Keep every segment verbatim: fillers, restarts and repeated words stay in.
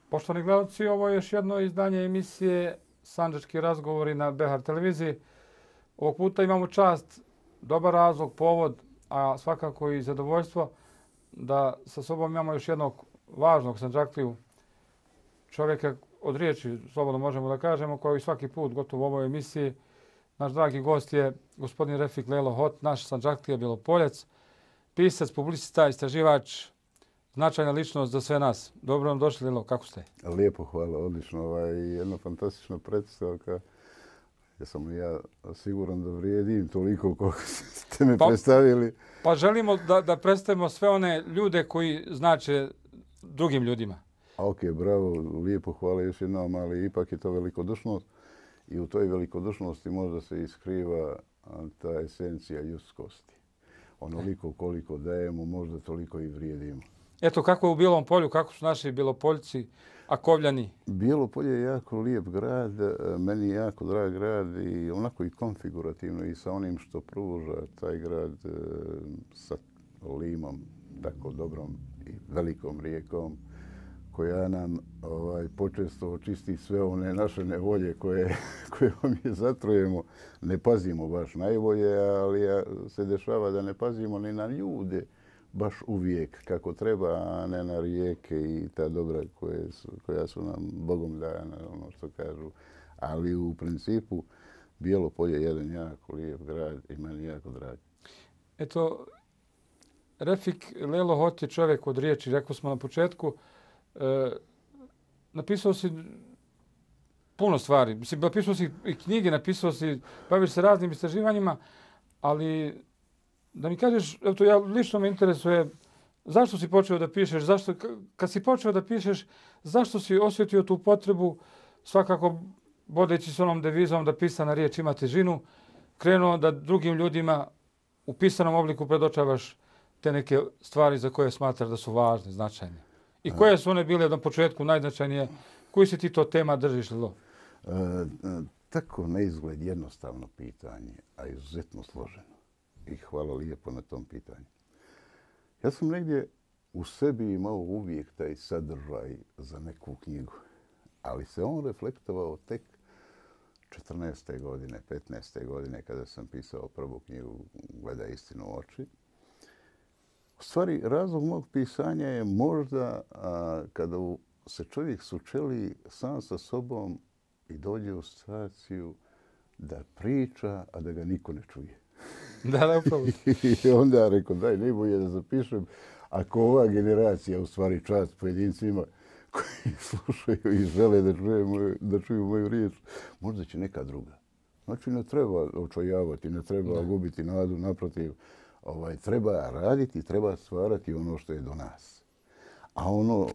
Poštovani gledalci, ovo je još jedno izdanje emisije Sandžački razgovori na B H R televiziji. Ovog puta imamo čast, dobar razlog, povod, a svakako i zadovoljstvo da sa sobom imamo još jednog važnog Sandžakliju, čovjeka od riječi, slobodno možemo da kažemo, koji i svaki put gotovo u ovoj emisiji. Naš dragi gost je gospodin Refik Lelo Hot, naš Sandžaklija Bjelopoljac, pisac, publicista, istraživač, značajna ličnost za sve nas. Dobro vam došli, Lelo, kako ste? Lijepo, hvala, odlično. Ovaj, jedna fantastična predstavka. Ja sam ja siguran da vrijedim toliko koliko ste me pa, predstavili. Pa želimo da, da predstavimo sve one ljude koji znače drugim ljudima. A ok, bravo, lijepo, hvala još jednom, ali ipak je to velikodušnost. I u toj velikodušnosti možda se iskriva ta esencija ljudskosti. Onoliko koliko dajemo, možda toliko i vrijedimo. Eto, kako je u Bijelom Polju, kako su naši Bjelopoljci, Akovljani? Bijelo Polje je jako lijep grad, meni je jako drag grad i onako i konfigurativno i sa onim što pruža taj grad sa limom, tako dobrom i velikom rijekom, koja nam ovaj, počesto očisti sve one naše nevolje koje, koje mi zatrujemo. Ne pazimo baš najbolje, ali se dešava da ne pazimo ni na ljude baš uvijek kako treba, a ne na rijeke i ta dobra koje su, koja su nam Bogom dana, ono što kažu. Ali u principu Bijelo Polje je jedan jako lijep grad i meni jako drag. Eto, Refik Lelo Hot je čovjek od riječi, rekli smo na početku. E, napisao si puno stvari. Mislim, napisao si i knjige, napisao si, baviš se raznim istraživanjima, ali da mi kažeš, eto, ja lično me interesuje zašto si počeo da pišeš, zašto, kad si počeo da pišeš, zašto si osjetio tu potrebu, svakako vodeći s onom devizom da pisana riječ ima težinu, krenuo da drugim ljudima u pisanom obliku predočavaš te neke stvari za koje smatraš da su važne, značajne. I koje su one bile na početku najznačajnije? Koji si ti to tema držiš, Lelo? E, tako na izgled jednostavno pitanje, a izuzetno složeno. I hvala lijepo na tom pitanju. Ja sam negdje u sebi imao uvijek taj sadržaj za neku knjigu, ali se on reflektovao tek četrnaeste godine, petnaeste godine kada sam pisao prvu knjigu Gledaj istinu u oči. U stvari, razlog mog pisanja je možda a, kada se čovjek sučeli sam sa sobom i dođe u situaciju da priča, a da ga niko ne čuje. Da, da, upravo. I onda rekao, daj, najbolje da zapišem, ako ova generacija, u stvari čast pojedincima koji slušaju i žele da čuju moju, da čuju moju riječ, možda će neka druga. Znači, ne treba očajavati, ne treba da. gubiti nadu, naprotiv. Ovaj, treba raditi, treba stvarati ono što je do nas. A ono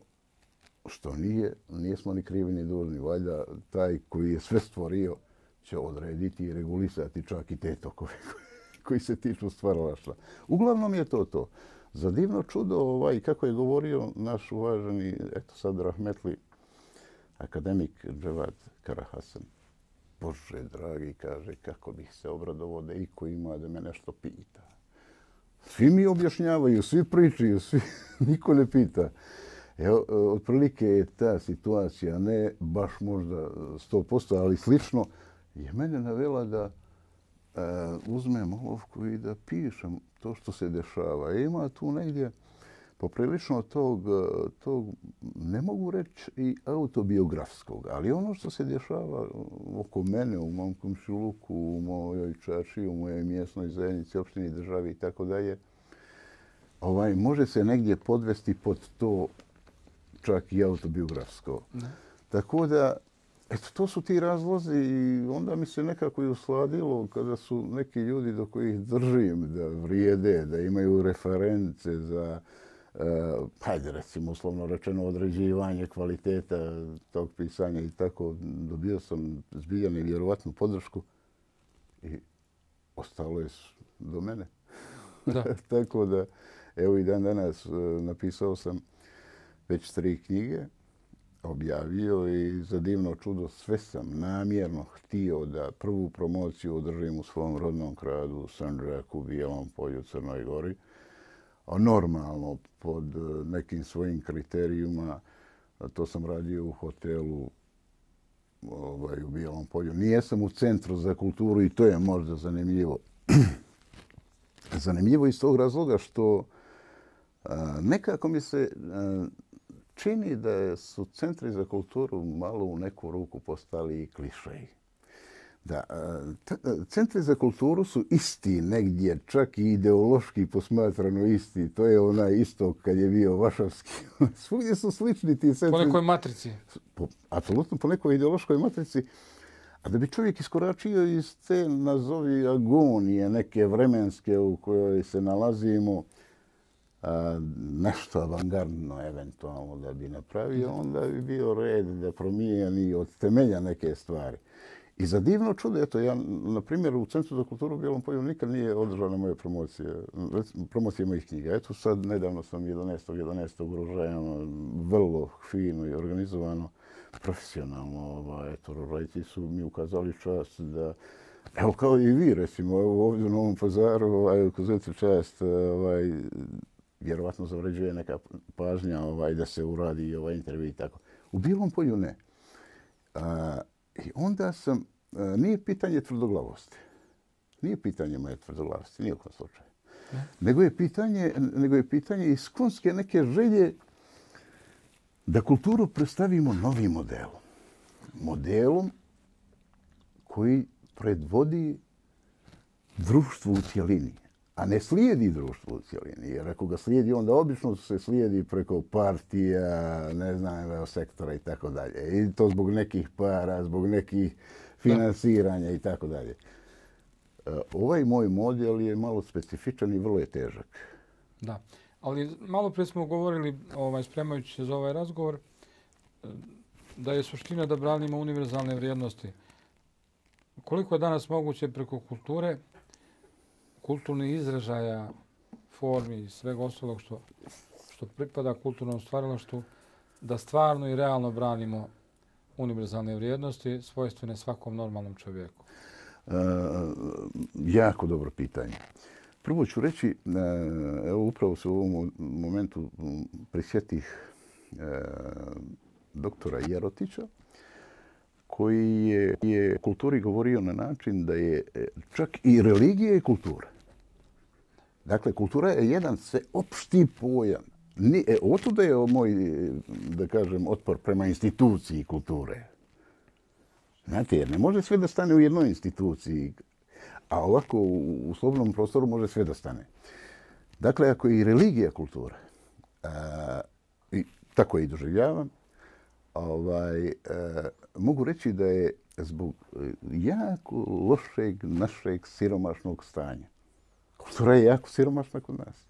što nije, nismo ni krivi ni dužni. Valjda taj koji je sve stvorio će odrediti i regulisati čak i te tokove koji se tiču stvaralaštva. Uglavnom je to to. Za divno čudo, ovaj, kako je govorio naš uvaženi, eto sad rahmetli, akademik Dževad Karahasan, Bože dragi, kaže, kako bih se obradovao da iko ima da me nešto pita. Svi mi objašnjavaju, svi pričaju, svi, niko ne pita. Evo, otprilike je ta situacija, ne baš možda sto posto, ali slično, je mene navela da uh, uzmem olovku i da pišem to što se dešava. I ima tu negdje poprilično tog, tog, ne mogu reći i autobiografskog, ali ono što se dešava oko mene, u mom komšiluku, u mojoj čaši, u mojoj mjesnoj zajednici, opštini, državi i tako dalje, ovaj, može se negdje podvesti pod to čak i autobiografsko. Ne. Tako da, eto, to su ti razlozi i onda mi se nekako i usladilo kada su neki ljudi do kojih držim da vrijede, da imaju reference za Uh, hajde recimo uslovno rečeno određivanje kvaliteta tog pisanja i tako, dobio sam zbilja nevjerovatnu podršku i ostalo je do mene. Da. Tako da, evo i dan danas uh, napisao sam već tri knjige, objavio i za divno čudo sve sam namjerno htio da prvu promociju održim u svom rodnom gradu, Sandžaku, Bijelom Polju, Crnoj Gori. Normalno pod nekim svojim kriterijima to sam radio u hotelu ovaj, u Bijelom polju. Nijesam u Centru za kulturu i to je možda zanimljivo. Zanimljivo iz tog razloga što a, nekako mi se a, čini da su centri za kulturu malo u neku ruku postali i klišeji. Da, centri za kulturu su isti negdje, čak i ideološki posmatrano isti. To je onaj istok kad je bio Varšavski. Svugdje su slični ti centri. Po nekoj matrici. Po, apsolutno po nekoj ideološkoj matrici. A da bi čovjek iskoračio iz te, nazovi, agonije, neke vremenske u kojoj se nalazimo, a, nešto avangardno eventualno da bi napravio, onda bi bio red da promijeni od temelja neke stvari. I za divno čudo, eto, ja, na primjer, u Centru za kulturu u Bijelom polju nikad nije održana moja promocija, promocija mojih knjiga. Eto, sad nedavno sam jedanaestog jedanaestog uružajano, vrlo fino i organizovano, profesionalno. Ovaj, eto, roditelji su mi ukazali čast da, evo kao i vi, recimo, ovdje u Novom Pazaru, ovaj, ukazujete čast, ovaj, vjerovatno zavređuje neka pažnja ovaj, da se uradi ovaj intervju i tako. U Bijelom polju ne. A, I onda sam, nije pitanje tvrdoglavosti. Nije pitanje moje tvrdoglavosti, nije u kom slučaju. Ne. Nego je pitanje, nego je pitanje iskonske neke želje da kulturu predstavimo novim modelom. Modelom koji predvodi društvu u cjelini, a ne slijedi društvu u cjelini. Jer ako ga slijedi, onda obično se slijedi preko partija, ne znam, sektora i tako dalje. I to zbog nekih para, zbog nekih finansiranja i tako dalje. Ovaj moj model je malo specifičan i vrlo je težak. Da, ali malo prije smo govorili, ovaj, spremajući se za ovaj razgovor, da je suština da branimo univerzalne vrijednosti. Koliko je danas moguće preko kulture, kulturnih izražaja, formi i svega ostalog što, što pripada kulturnom stvaralaštvu, da stvarno i realno branimo univerzalne vrijednosti svojstvene svakom normalnom čovjeku? E, jako dobro pitanje. Prvo ću reći, evo upravo se u ovom momentu prisjetih e, doktora Jerotića, koji je, je kulturi govorio na način da je čak i religija i kultura. Dakle, kultura je jedan sveopšti pojam. Ni, e, otuda je moj, da kažem, otpor prema instituciji kulture. Znate, jer ne može sve da stane u jednoj instituciji, a ovako u, u slobodnom prostoru može sve da stane. Dakle, ako je i religija kultura, a, i tako je i doživljavam, ovaj, a, mogu reći da je zbog jako lošeg našeg siromašnog stanja. Kultura je jako siromašna kod nas.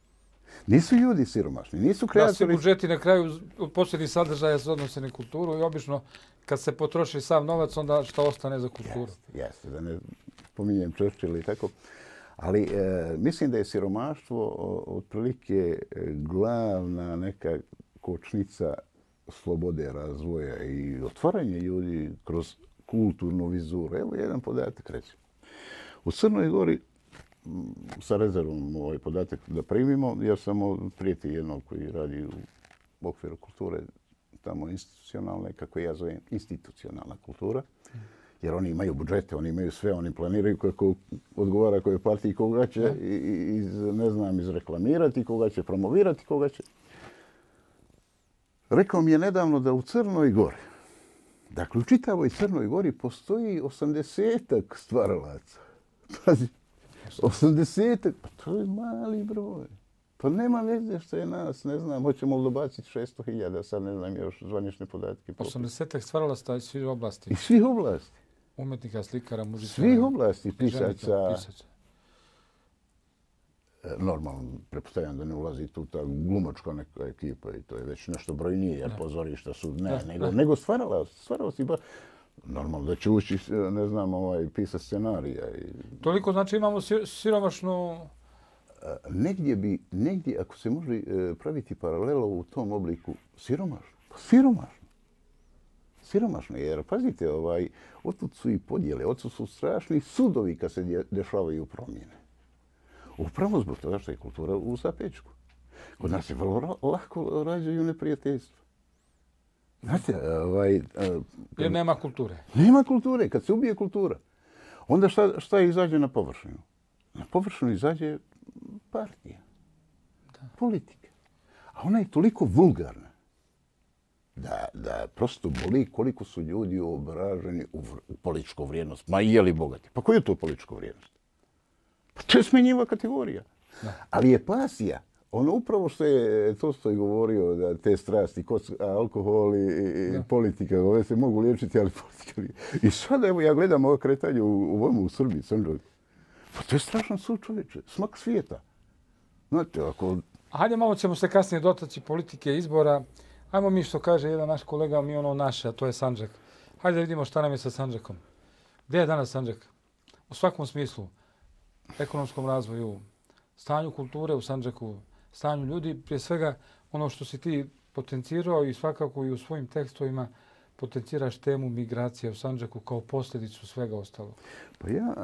Nisu ljudi siromašni, nisu kreatori. Da, svi budžeti na kraju od posljednjih sadržaja se odnose na kulturu i obično kad se potroši sav novac, onda što ostane za kulturu. Jeste, jeste, da ne pominjem Churchill i tako. Ali e, mislim da je siromaštvo otprilike glavna neka kočnica slobode razvoja i otvaranje ljudi kroz kulturnu vizuru. Evo jedan podatak reći. U Crnoj Gori, sa rezervom ovaj podatak da primimo, ja sam prijatelj jednog koji radi u okviru kulture, tamo institucionalne, kako ja zovem, institucionalna kultura, jer oni imaju budžete, oni imaju sve, oni planiraju kako odgovara koje partiji, koga će iz, ne znam, izreklamirati, koga će promovirati, koga će. Rekao mi je nedavno da u Crnoj Gori, dakle u čitavoj Crnoj Gori postoji osamdesetak stvaralaca. Pazi, osamdesetak, pa to je mali broj. Pa nema veze što je nas, ne znam, hoćemo li dobaciti šesto hiljada, sad ne znam još zvanične podatke. osamdesetak stvaralaca iz svih oblasti. Iz svih oblasti. Umetnika, slikara, muzičara. Svih oblasti, pisaca. Normalno, prepostavljam da ne ulazi tu ta glumačka neka ekipa i to je već nešto brojnije, jer pozorišta su ne, da, nego, da. nego stvarala, stvarala si ba... Normalno da će ući, ne znam, ovaj, pisa scenarija. I... Toliko znači imamo siromašnu... Negdje bi, negdje ako se može praviti paralela u tom obliku, siromašno. Pa siromašno. Siromašno, jer pazite, ovaj, otud su i podjele, otud su strašni sudovi kad se dešavaju promjene. Upravo zbog toga što je kultura u zapećku. Kod nas se vrlo lako rađaju neprijateljstva. Znate, ovaj... Jer nema kulture. Nema kulture. Kad se ubije kultura, onda šta, šta izađe na površinu? Na površinu izađe partija, da. Politika. A ona je toliko vulgarna da, da prosto boli koliko su ljudi obraženi u, u političku vrijednost. Ma je li bogati? Pa koja je to politička vrijednost? Pa to je smenjiva kategorija. Da. Ali je pasija. Ono upravo što je Tolstoj govorio, da te strasti, koc, alkohol i, i politika, ove se mogu liječiti, ali politika... I sada, evo, ja gledam ovo kretanje u, u, u Srbiji, Sandžak. Pa to je strašan sud, čovječe. Smak svijeta. Znate, ako... Hajde, malo ćemo se kasnije dotaći politike izbora. Hajmo mi što kaže jedan naš kolega, mi ono naše, a to je Sandžak. Hajde da vidimo šta nam je sa Sandžakom. Gdje je danas Sandžak? U svakom smislu. Ekonomskom razvoju, stanju kulture u Sandžaku, stanju ljudi, prije svega ono što si ti potencirao i svakako i u svojim tekstovima potenciraš temu migracije u Sandžaku kao posljedicu svega ostalog. Pa ja,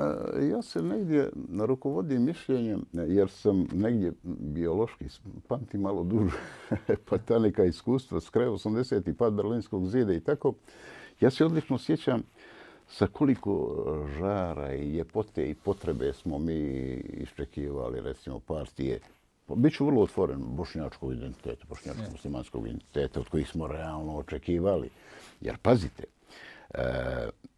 ja se negdje rukovodim mišljenjem, jer sam negdje biološki, pamtim malo duže, pa ta neka iskustva s kraja osamdesetih pad Berlinskog zida i tako. Ja se odlično sjećam sa koliko žara i ljepote i potrebe smo mi iščekivali, recimo, partije. Biću vrlo otvoren bošnjačkog identiteta, bošnjačko-muslimanskog identiteta, od kojih smo realno očekivali. Jer, pazite, e,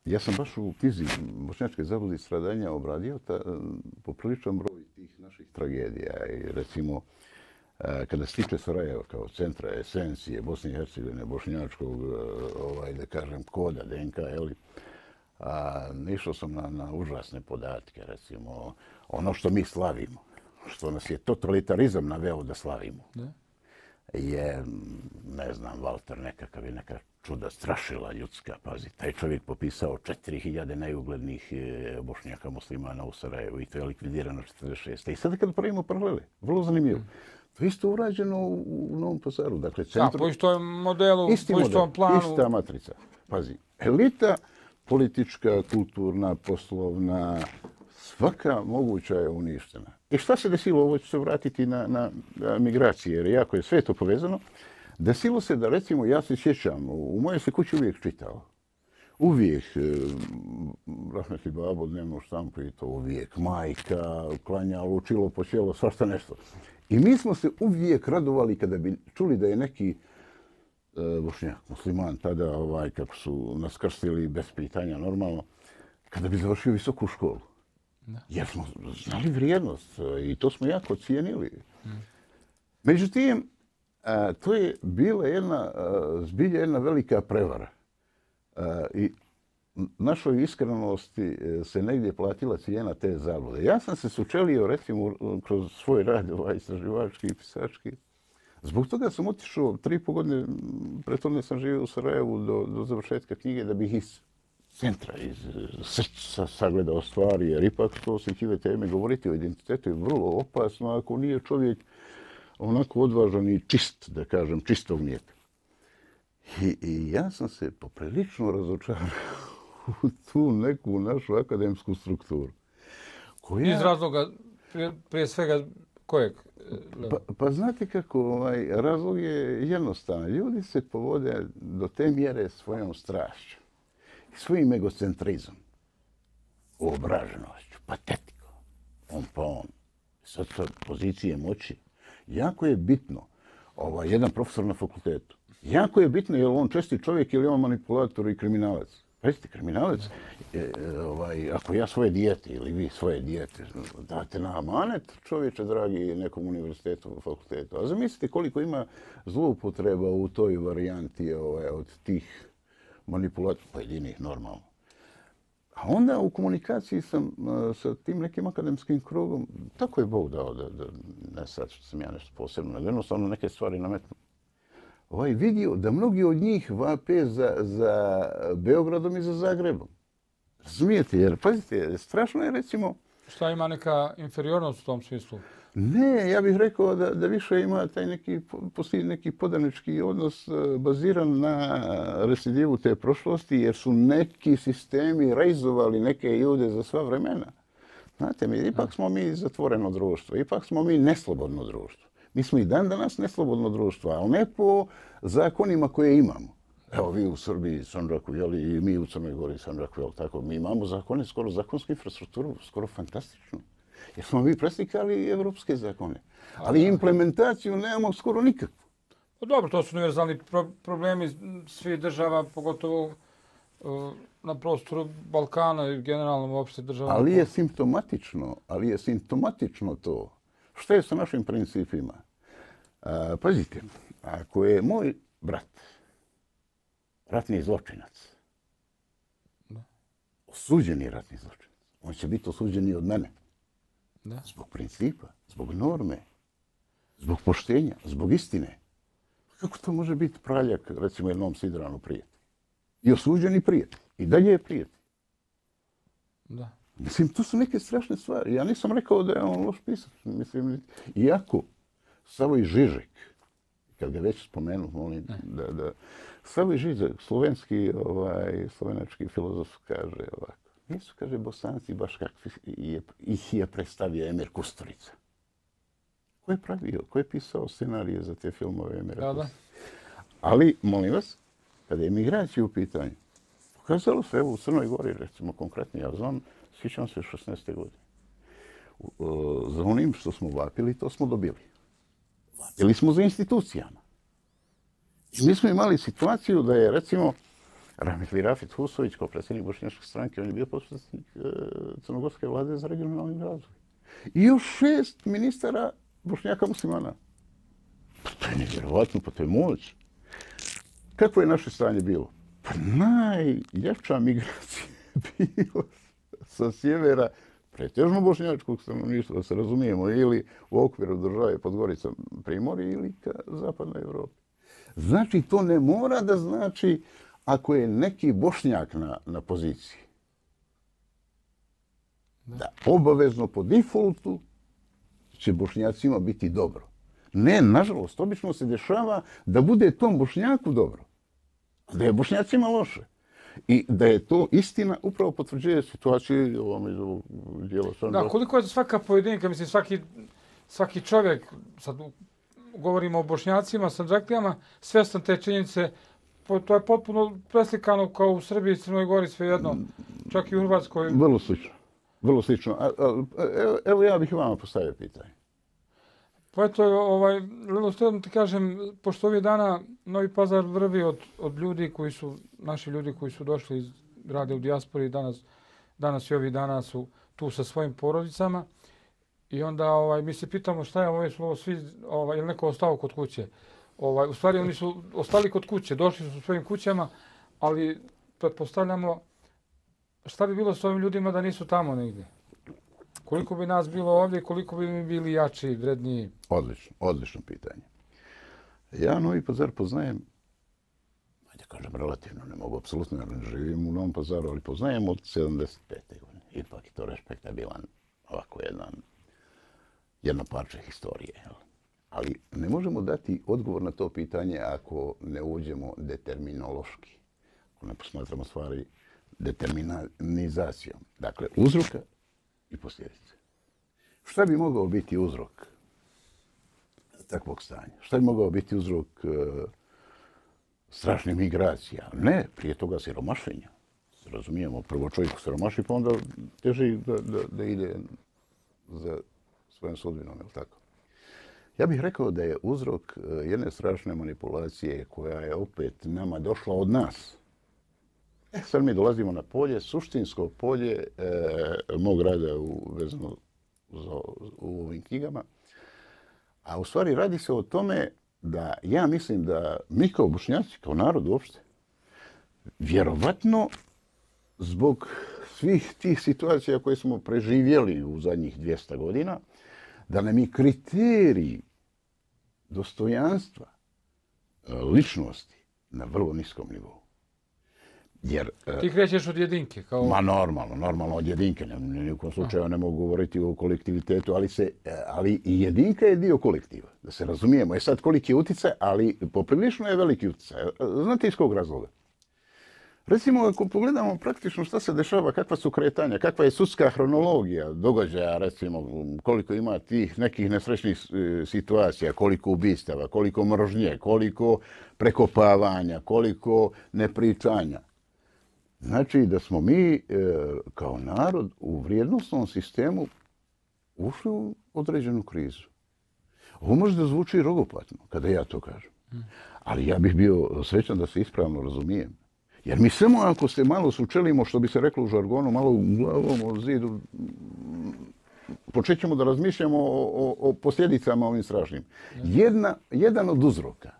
ja sam baš u knjizi Bošnjačke zablude i stradanja obradio ta, popriličan broj tih naših tragedija. I recimo, e, kada se tiče Sarajeva kao centra esencije Bosne i Hercegovine, bošnjačkog, ovaj, da kažem, koda, D N K, jeli, a, išao sam na, na užasne podatke, recimo, ono što mi slavimo, što nas je totalitarizam naveo da slavimo, da. Je, ne znam, Valter nekakav je neka čuda strašila ljudska, pazi. Taj čovjek popisao četiri hiljade najuglednijih Bošnjaka muslimana u Sarajevu i to je likvidirano četrdeset šeste. I sada kad pravimo paralele, vrlo zanimljivo. To je isto urađeno u, u Novom Pazaru. Dakle, centru... Da, po istom modelu, isti po istom model, planu. Ista matrica. Pazi, elita politička, kulturna, poslovna, svaka moguća je uništena. I šta se desilo? Ovo će se vratiti na, na, na migracije, jer jako je sve to povezano. Desilo se da, recimo, ja se sjećam, u mojoj se kući uvijek čitao. Uvijek, rahmetli babo, dnevno štampu i to uvijek. Majka, klanjalo, učilo, počelo, svašta nešto. I mi smo se uvijek radovali kada bi čuli da je neki e, Bošnjak, musliman, tada, ovaj, kako su nas krstili bez pitanja, normalno, kada bi završio visoku školu. Da. Jer smo znali vrijednost i to smo jako cijenili. Hmm. Međutim, a, to je bila jedna, a, zbilja jedna velika prevara. A, I našoj iskrenosti se negdje platila cijena te zablude. Ja sam se sučelio, recimo, kroz svoj rad, ovaj, istraživački i pisački. Zbog toga sam otišao tri i po godine, prethodno sam živio u Sarajevu do, do završetka knjige da bih iz centra, iz srca sagledao stvari, jer ipak to osjetljive teme, govoriti o identitetu je vrlo opasno ako nije čovjek onako odvažan i čist, da kažem, čistog mlijeka. I, i ja sam se poprilično razočarao u tu neku našu akademsku strukturu. Koja... Iz razloga, prije, prije svega, kojeg? Pa, pa znate kako, ovaj, razlog je jednostavan. Ljudi se povode do te mjere svojom strašću, svojim egocentrizom, obraženošću, patetikom, on pa on, sad sa pozicije moći. Jako je bitno, ovaj, jedan profesor na fakultetu, jako je bitno je li on česti čovjek ili on manipulator i kriminalac. Pazite, kriminalac, e, ovaj, ako ja svoje dijete ili vi svoje dijete date na amanet, čovječe dragi, nekom univerzitetu, fakultetu. A zamislite koliko ima zloupotreba u toj varijanti ovaj, od tih manipulacija pojedinih normalno. A onda u komunikaciji sam uh, sa tim nekim akademskim krugom, tako je Bog dao da, da ne sad što sam ja nešto posebno, nego jednostavno neke stvari nametnu. Ovaj vidio da mnogi od njih vape za, za Beogradom i za Zagrebom. Razumijete, jer pazite, strašno je recimo... Šta ima neka inferiornost u tom smislu? Ne, ja bih rekao da, da više ima taj neki, postoji neki podanički odnos baziran na recidivu te prošlosti, jer su neki sistemi rejzovali neke ljude za sva vremena. Znate, mi, ipak smo mi zatvoreno društvo, ipak smo mi neslobodno društvo. Mi smo i dan danas neslobodno društvo, ali ne po zakonima koje imamo. Evo vi u Srbiji, Sandžaku, jeli, i mi u Crnoj Gori, Sandžaku, jel tako? Mi imamo zakone, skoro zakonsku infrastrukturu, skoro fantastičnu. Jer smo mi preslikali evropske zakone. Ali implementaciju nemamo skoro nikakvu. Dobro, to su univerzalni pro problemi svih država, pogotovo uh, na prostoru Balkana i generalno uopšte država. Ali je simptomatično, ali je simptomatično to. Što je sa našim principima? A, pazite, ako je moj brat ratni zločinac, da. Osuđeni ratni zločinac, on će biti osuđen i od mene. Da. Zbog principa, zbog norme, zbog poštenja, zbog istine. Kako to može biti praljak, recimo, jednom Sidranu prijatelj? I osuđeni prijatelj. I dalje je prijatelj. Da. Mislim, to su neke strašne stvari. Ja nisam rekao da je on loš pisac. Mislim, iako Savoj Žižek, kad ga već spomenu, molim da, da... Savoj Žižek, slovenski, ovaj, slovenački filozof, kaže ovako. Nisu, kaže, Bosanci baš kakvi je, ih je predstavio Emir Kusturica. Ko je pravio, ko je pisao scenarije za te filmove Emira Da, da. Ali, molim vas, kada je migracija u pitanju, pokazalo se, evo u Crnoj Gori, recimo konkretno, ja znam, sjećam se šesnaeste godine. Za onim što smo vapili, to smo dobili. Vapili smo za institucijama. I mi smo imali situaciju da je, recimo, Rahmetli Rafit Husović, kao predsjednik Bošnjačke stranke, on je bio potpredsjednik Crnogorske vlade za regionalni razvoj. I još šest ministara Bošnjaka muslimana. Pa to je nevjerovatno, pa to je moć. Kako je naše stanje bilo? Pa najljepša migracija je bila sa sjevera pretežno bošnjačkog stanovništva, da se razumijemo, ili u okviru države Podgorica Primorje ili ka zapadnoj Evropi. Znači, to ne mora da znači ako je neki Bošnjak na, na poziciji. Da. da obavezno po defaultu će Bošnjacima biti dobro. Ne, nažalost, obično se dešava da bude tom Bošnjaku dobro. Da je Bošnjacima loše. I da je to istina upravo potvrđuje situaciju ovom iz ovog dijela. Da, koliko je svaka pojedinka, mislim, svaki, svaki čovjek, sad govorimo o Bošnjacima, Sandžaklijama, svjestan te činjenice, to je potpuno preslikano kao u Srbiji, Crnoj Gori, svejedno, čak i u Hrvatskoj. Vrlo slično. Vrlo slično. A, a, evo, evo ja bih vama postavio pitanje. Pa eto, ovaj, Lilo, što ti kažem, pošto ovih dana Novi Pazar vrvi od, od ljudi koji su, naši ljudi koji su došli iz rade u dijaspori, danas, danas i ovih dana su tu sa svojim porodicama. I onda ovaj, mi se pitamo šta je ovo, ovo svi, ovaj, je neko ostao kod kuće. Ovaj, u stvari oni su ostali kod kuće, došli su u svojim kućama, ali pretpostavljamo šta bi bilo s ovim ljudima da nisu tamo negdje. Koliko bi nas bilo ovdje i koliko bi mi bili jači, vredniji? Odlično, odlično pitanje. Ja Novi Pazar poznajem, ajde kažem relativno, ne mogu apsolutno, jer ne živim u Novom Pazaru, ali poznajem od sedamdeset pete godine. Ipak je to respektabilan, ovako jedan, jedno parče historije. Jel? Ali ne možemo dati odgovor na to pitanje ako ne uđemo determinološki. Ako ne posmatramo stvari determinizacijom. Dakle, uzroka i posljedice. Šta bi mogao biti uzrok takvog stanja? Šta bi mogao biti uzrok e, strašnih migracija? Ne, prije toga siromašenja. Razumijemo, prvo čovjek siromaši, pa onda teže da, da, da ide za svojom sudbinom, je li tako? Ja bih rekao da je uzrok jedne strašne manipulacije koja je opet nama došla od nas. E, sad mi dolazimo na polje, suštinsko polje e, mog rada u, vezano za, u ovim knjigama. A u stvari radi se o tome da ja mislim da mi kao Bošnjaci, kao narod uopšte, vjerovatno zbog svih tih situacija koje smo preživjeli u zadnjih dvjesto godina, da nam je kriterij dostojanstva ličnosti na vrlo niskom nivou. Jer, ti krećeš od jedinke? Kao... Ma normalno, normalno od jedinke. Ni u kom slučaju ne mogu govoriti o kolektivitetu, ali, se, ali i jedinka je dio kolektiva. Da se razumijemo. Je sad koliki je utjecaj, ali poprilično je veliki utjecaj. Znate iz kog razloga? Recimo, ako pogledamo praktično šta se dešava, kakva su kretanja, kakva je sudska hronologija događaja, recimo, koliko ima tih nekih nesrećnih situacija, koliko ubistava, koliko mržnje, koliko prekopavanja, koliko nepričanja. Znači da smo mi kao narod u vrijednostnom sistemu ušli u određenu krizu. Ovo može da zvuči rogopatno kada ja to kažem. Ali ja bih bio srećan da se ispravno razumijem. Jer mi samo ako se malo sučelimo, što bi se reklo u žargonu, malo u glavom o zidu, počećemo da razmišljamo o, o, o posljedicama ovim strašnim. Jedna, jedan od uzroka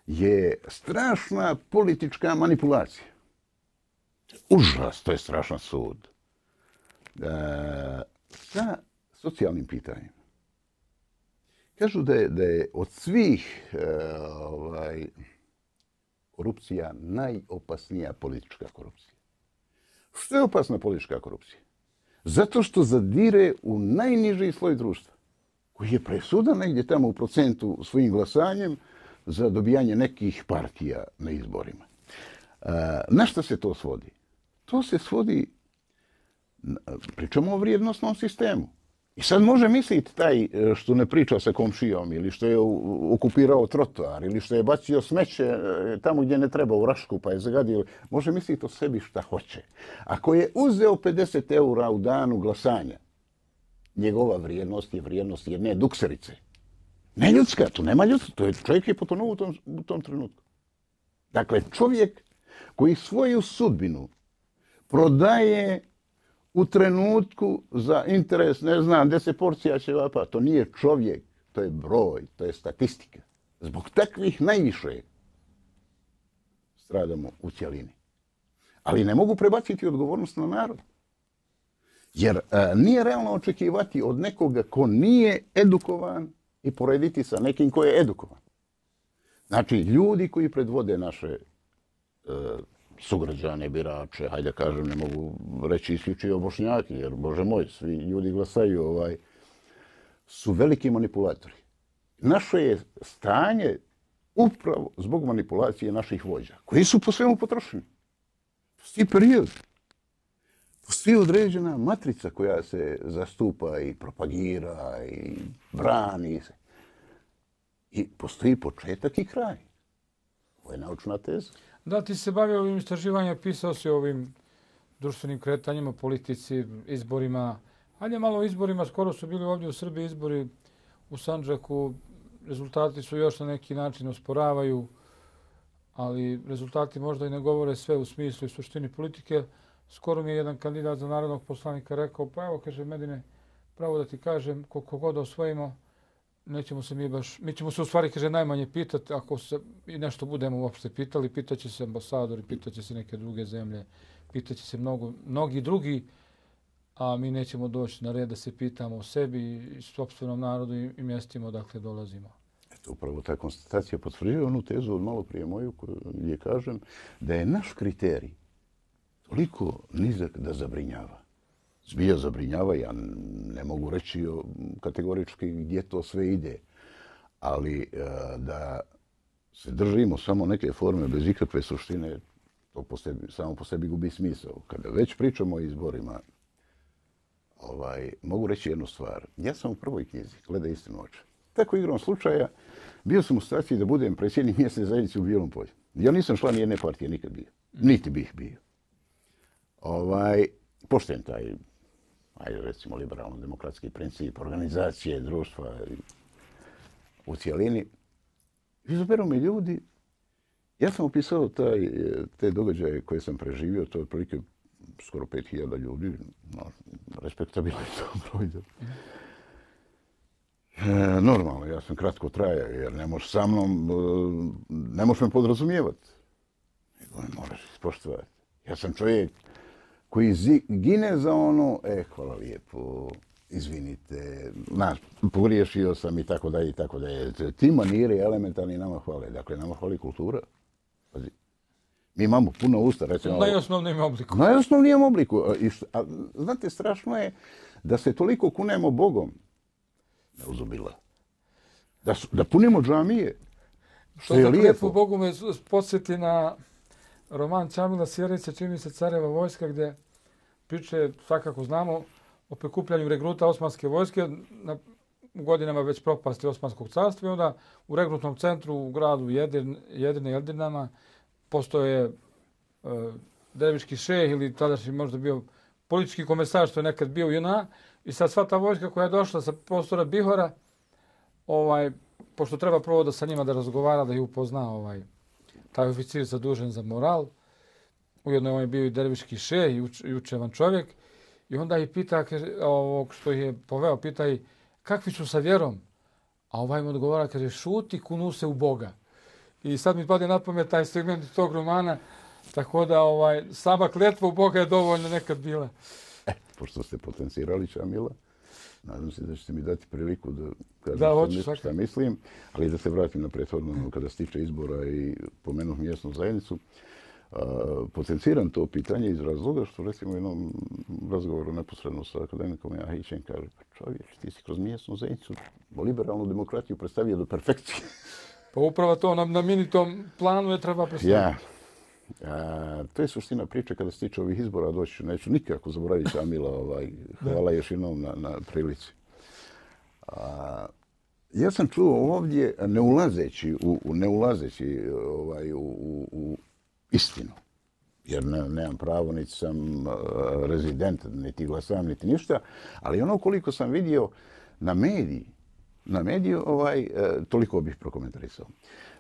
je strašna politička manipulacija. Užas, to je strašan sud. E, sa socijalnim pitanjima. Kažu da je, da je od svih e, ovaj, korupcija najopasnija politička korupcija. Što je opasna politička korupcija? Zato što zadire u najniži sloj društva, koji je presudan negdje tamo u procentu svojim glasanjem za dobijanje nekih partija na izborima. E, na što se to svodi? To se svodi, pričamo o vrijednostnom sistemu. I sad može misliti taj što ne priča sa komšijom ili što je okupirao trotoar ili što je bacio smeće tamo gdje ne treba u Rašku pa je zagadio, može misliti o sebi šta hoće. Ako je uzeo pedeset eura u danu glasanja, njegova vrijednost je vrijednost jedne dukserice. Ne ljudska, tu nema ljudska, to je čovjek je potonuo u tom, u tom trenutku. Dakle, čovjek koji svoju sudbinu prodaje u trenutku za interes, ne znam, deset porcija ćevapa, to nije čovjek, to je broj, to je statistika. Zbog takvih najviše stradamo u cjelini. Ali ne mogu prebaciti odgovornost na narod. Jer a, nije realno očekivati od nekoga ko nije edukovan i porediti sa nekim ko je edukovan. Znači, ljudi koji predvode naše a, sugrađane, birače, hajde kažem, ne mogu reći isključivo Bošnjaki, jer, Bože moj, svi ljudi glasaju, ovaj, su veliki manipulatori. Naše je stanje upravo zbog manipulacije naših vođa, koji su po svemu potrošeni. Postoji period. Postoji određena matrica koja se zastupa i propagira i brani se. I postoji početak i kraj. Ovo je naučna teza. Da, ti se bavio ovim istraživanjem, pisao si o ovim društvenim kretanjima, politici, izborima. Hajde malo o izborima, skoro su bili ovdje u Srbiji izbori u Sandžaku. Rezultati su još na neki način osporavaju, ali rezultati možda i ne govore sve u smislu i suštini politike. Skoro mi je jedan kandidat za narodnog poslanika rekao, pa evo, kaže Medine, pravo da ti kažem, koliko god osvojimo, nećemo se mi baš, mi ćemo se u stvari, kaže, najmanje pitati, ako se i nešto budemo uopšte pitali, pitaće se ambasadori, pitaće se neke druge zemlje, pitaće se mnogo, mnogi drugi, a mi nećemo doći na red da se pitamo o sebi i sopstvenom narodu i, i mjestima odakle dolazimo. Eto, upravo ta konstatacija potvrđuje onu tezu od malo prije moju, gdje kažem da je naš kriterij toliko nizak da zabrinjava. Zbilja zabrinjava, ja ne mogu reći kategorički gdje to sve ide, ali da se držimo samo neke forme bez ikakve suštine, to po sebi, samo po sebi gubi smisao. Kada već pričamo o izborima, ovaj, mogu reći jednu stvar. Ja sam u prvoj knjizi, Gledaj istinu oči. Tako igrom slučaja, bio sam u situaciji da budem predsjednik mjesne zajednice u Bijelom polju. Ja nisam član jedne partije nikad bio, niti bih bio. Ovaj, pošten taj, ajde recimo, liberalno-demokratski princip organizacije društva u cijelini. Izaberu mi ljudi. Ja sam opisao taj, te događaje koje sam preživio, to je otprilike skoro pet hiljada ljudi, no, respektabilno je to broj. E, normalno, ja sam kratko trajao, jer ne možeš sa mnom, ne možeš me podrazumijevati. Nego me moraš ispoštovati. Ja sam čovjek koji gine za ono, e, hvala lijepo, izvinite, znaš, pogriješio sam i tako dalje i tako dalje. Ti maniri elementarni nama hvale. Dakle, nama hvali kultura. Pazi. Mi imamo puno usta, recimo... Najosnovnijem obliku. Najosnovnijem obliku. I, a, znate, strašno je da se toliko kunemo Bogom. Ne uzubila. Da, su, da punimo džamije. Što je lijepo. Bogu me podsjeti na roman Čamila Sjerice, čini se Careva vojska, gdje priče, svakako znamo, o prikupljanju regruta Osmanske vojske na u godinama već propasti Osmanskog carstva i onda u regrutnom centru u gradu Jedir, Jedine i Eldinama postoje e, Derviški šeh ili tadašnji možda bio politički komesar što je nekad bio u J N A i sad sva ta vojska koja je došla sa prostora Bihora, ovaj, pošto treba prvo da sa njima da razgovara, da ih upozna ovaj, taj oficir zadužen za moral, ujedno on je bio i Derviški šeh i, uč, i učevan čovjek i onda ih pita, ovog što ih je poveo, pita ih kakvi su sa vjerom? A ovaj mu odgovara, kaže, šuti, kunu se u Boga. I sad mi pade na pamet taj segment tog romana, tako da ovaj, sama kletva u Boga je dovoljno nekad bila. E, pošto ste potencirali Čamila, nadam se da ćete mi dati priliku da kažem da, šta, hoću, šta, šta mislim, ali da se vratim na prethodno kada se tiče izbora i pomenuh mjesnu zajednicu. Uh, potenciram to pitanje iz razloga što recimo u jednom razgovoru neposredno sa akademikom Jahićem kaže pa čovječ, ti si kroz mjesnu zajednicu liberalnu demokratiju predstavio do perfekcije. Pa upravo to na, na minitom planu je treba predstaviti. Ja. A, to je suština priče kada se tiče ovih izbora, doći neću nikako zaboraviti Čamila, ovaj, hvala još jednom na, na prilici. A, ja sam čuo ovdje, ne ulazeći u, ne ulazeći, ovaj, u, u, u istinu, jer ne, nemam pravo, niti sam uh, rezident, niti glasam, niti ništa, ali ono koliko sam vidio na mediji, na mediju, ovaj, uh, toliko bih prokomentarisao.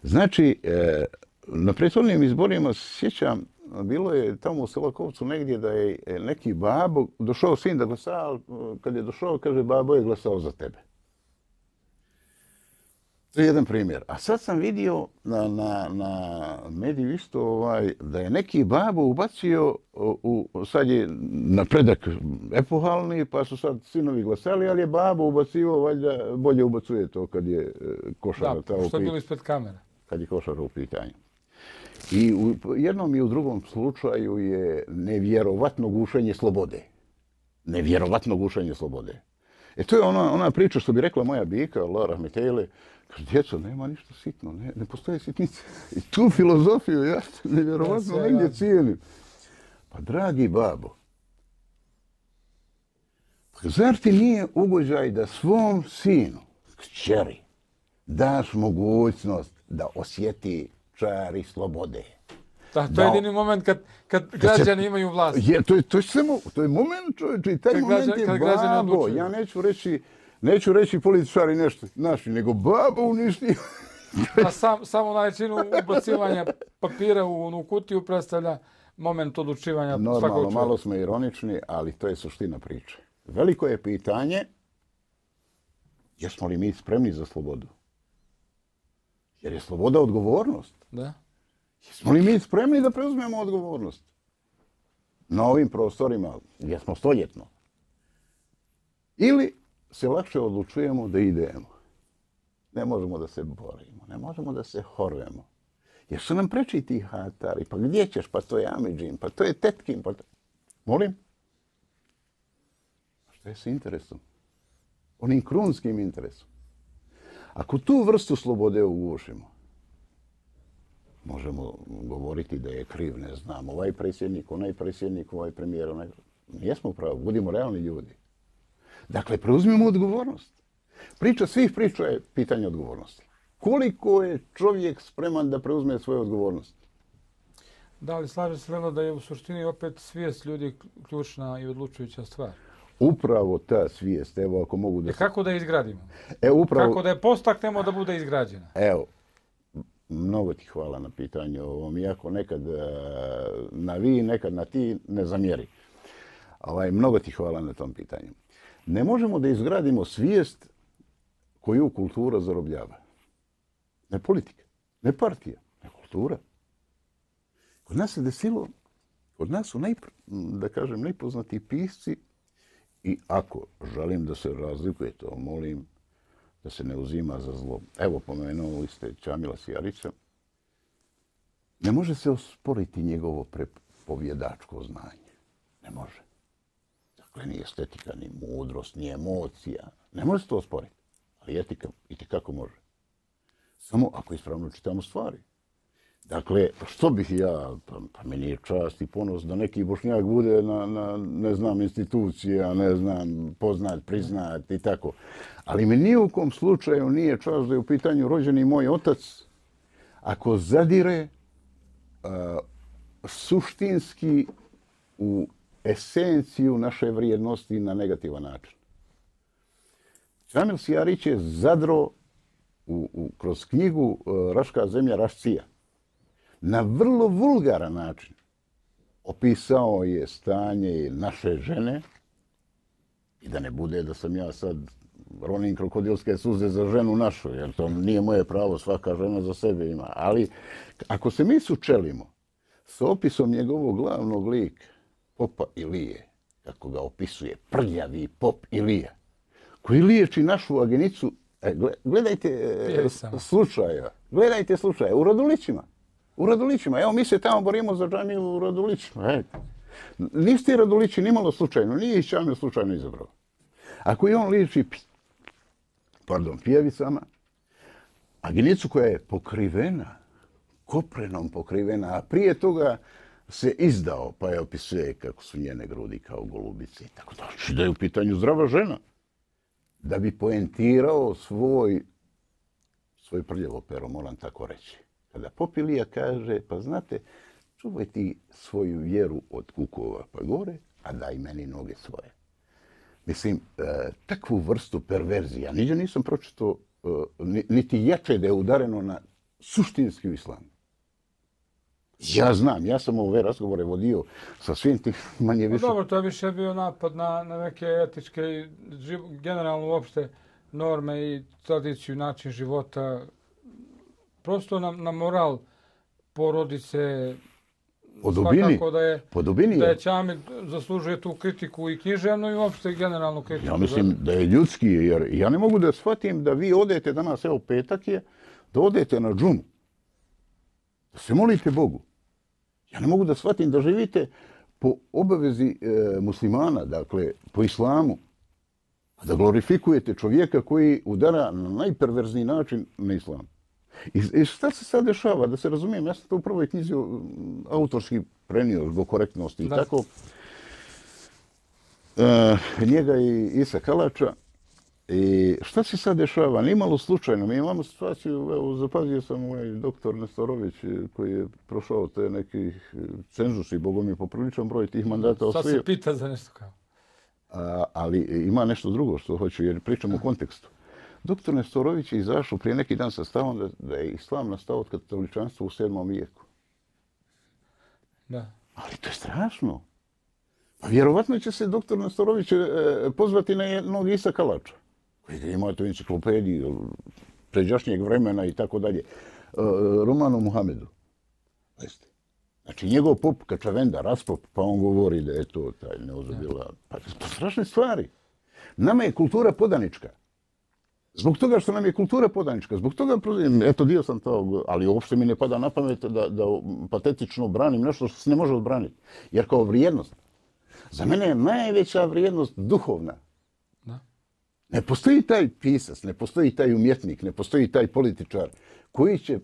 Znači, uh, na prethodnim izborima sjećam, bilo je tamo u Selakovcu negdje da je neki babo, došao sin da glasa, ali kad je došao, kaže, babo je glasao za tebe. To je jedan primjer. A sad sam vidio na, na, na mediju isto ovaj, da je neki babo ubacio, u, sad je napredak epohalni, pa su sad sinovi glasali, ali je babo ubacio, valjda bolje ubacuje to kad je košara. Da, što je bilo ispred kamera. Kad je košara u pitanju. I u jednom i u drugom slučaju je nevjerovatno gušenje slobode. Nevjerovatno gušenje slobode. E to je ona, ona priča što bi rekla moja bika, Allah rahmetejle, kaže, djeco, nema ništa sitno, ne, ne postoje sitnice. I tu filozofiju ja nevjerovatno ja negdje cijenim. Pa dragi babo, zar ti nije ugođaj da svom sinu, kćeri, daš mogućnost da osjeti čari slobode? Da, to je jedini moment kad, kad građani imaju vlast. Je, to, je, to, je samo, to je moment, čovječe, i taj kad moment građan, je babo. Ja neću reći, neću reći političari nešto naši, nego babo uništi. A sam, samo načinu ubacivanja papira u onu kutiju predstavlja moment odlučivanja svakog čovjeka. Normalno, malo smo ironični, ali to je suština priče. Veliko je pitanje, jesmo li mi spremni za slobodu? Jer je sloboda odgovornost. Da. Jesmo li mi spremni da preuzmemo odgovornost? Na ovim prostorima, gdje smo stoljetno. Ili se lakše odlučujemo da idemo. Ne možemo da se borimo, ne možemo da se horvemo. Jer su nam preči ti hatari, pa gdje ćeš, pa to je Amidžin, pa to je Tetkin, pa to... Molim? Što je s interesom? Onim krunskim interesom. Ako tu vrstu slobode ugušimo, možemo govoriti da je kriv, ne znam, ovaj predsjednik, onaj predsjednik, ovaj premijer, onaj... Nijesmo upravo, budimo realni ljudi. Dakle, preuzmimo odgovornost. Priča svih priča je pitanje odgovornosti. Koliko je čovjek spreman da preuzme svoju odgovornost? Da, ali slaže se Lelo da je u suštini opet svijest ljudi ključna i odlučujuća stvar. Upravo ta svijest, evo ako mogu da... E kako da je izgradimo? E, upravo... Kako da je postaknemo da bude izgrađena? Evo, mnogo ti hvala na pitanju ovom, iako nekad na vi, nekad na ti, ne zamjeri. Ovaj, mnogo ti hvala na tom pitanju. Ne možemo da izgradimo svijest koju kultura zarobljava. Ne politika, ne partija, ne kultura. Kod nas se desilo, kod nas su, najpr, da kažem, najpoznati pisci i ako želim da se razlikuje, to molim da se ne uzima za zlo. Evo, pomenuli ste Čamila Sjarića. Ne može se osporiti njegovo prepovjedačko znanje. Ne može. Dakle, ni estetika, ni mudrost, ni emocija. Ne može se to osporiti. Ali etika itekako može. Samo ako ispravno čitamo stvari. Dakle, što bih ja, pa, pa meni je čast i ponos da neki Bošnjak bude na, na ne znam, institucija, ne znam, poznat, priznat i tako. Ali mi ni u kom slučaju nije čast da je u pitanju rođeni moj otac ako zadire uh, suštinski u esenciju naše vrijednosti na negativan način. Čamil Sijarić je zadro u, u, kroz knjigu uh, Raška zemlja Rašcija na vrlo vulgaran način opisao je stanje naše žene i da ne bude da sam ja sad ronim krokodilske suze za ženu našu, jer to nije moje pravo, svaka žena za sebe ima. Ali ako se mi sučelimo s opisom njegovog glavnog lika, popa Ilije, kako ga opisuje, prljavi pop Ilija, koji liječi našu agenicu, e, gledajte e, slučaja, gledajte slučaja u Radulićima. U Radulićima. Evo, mi se tamo borimo za džamiju u Radulićima. E, nisu ti Radulići nimalo slučajno, nije ih Čamil slučajno izabrao. Ako i on liječi pardon, pijavicama, agenicu koja je pokrivena, koprenom pokrivena, a prije toga se izdao, pa je opisuje kako su njene grudi kao golubice i tako da. Znači da je u pitanju zdrava žena. Da bi poentirao svoj, svoj prljavo pero, moram tako reći. Kada pop Ilija kaže, pa znate, čuvaj ti svoju vjeru od kukova pa gore, a daj meni noge svoje. Mislim, e, takvu vrstu perverzija, niđe nisam pročitao, e, niti jače da je udareno na suštinski islam. Ja znam, ja sam ove razgovore vodio sa svim tim manje više. Dobro, to je više bio napad na, na neke etičke, generalno uopšte norme i tradiciju, način života. Prosto na, na moral porodice. Po dubini, da je, po dubini da je Čamil zaslužuje tu kritiku i književnu i uopšte generalnu kritiku. Ja mislim da je ljudski, jer ja ne mogu da shvatim da vi odete danas, evo petak je, da odete na džumu, da se molite Bogu. Ja ne mogu da shvatim da živite po obavezi e, muslimana, dakle po islamu, a da glorifikujete čovjeka koji udara na najperverzniji način na islam. I, I šta se sad dešava? Da se razumijem, ja sam to u prvoj knjizi autorski prenio zbog korektnosti i da. Tako. E, njega i Isa Kalača. I šta se sad dešava? Nimalo slučajno. Mi imamo situaciju, evo, zapazio sam ovaj doktor Nestorović koji je prošao te neki cenzus i Bogom je popriličan broj tih mandata osvojio. Sad se pita za nešto kao. A, ali ima nešto drugo što hoću, jer pričam u kontekstu. Doktor Nestorović je izašao prije neki dan sa stavom da, da je islam nastao od katoličanstva u sedmom vijeku. Da. Ali to je strašno. Pa vjerovatno će se doktor Nestorović e, pozvati na jednog Isa Kalača, koji ima tu enciklopediju pređašnjeg vremena i tako dalje. E, Romanu Muhamedu. Jeste. Znači njegov pop Kačavenda, raspop, pa on govori da je to taj neozubila. Pa to strašne stvari. Nama je kultura podanička. Zbog toga što nam je kultura podanička, zbog toga, eto dio sam to, ali uopšte mi ne pada na pamet da, da patetično branim nešto što se ne može odbraniti. Jer kao vrijednost, za mene je najveća vrijednost duhovna. Da. Ne postoji taj pisac, ne postoji taj umjetnik, ne postoji taj političar koji će e,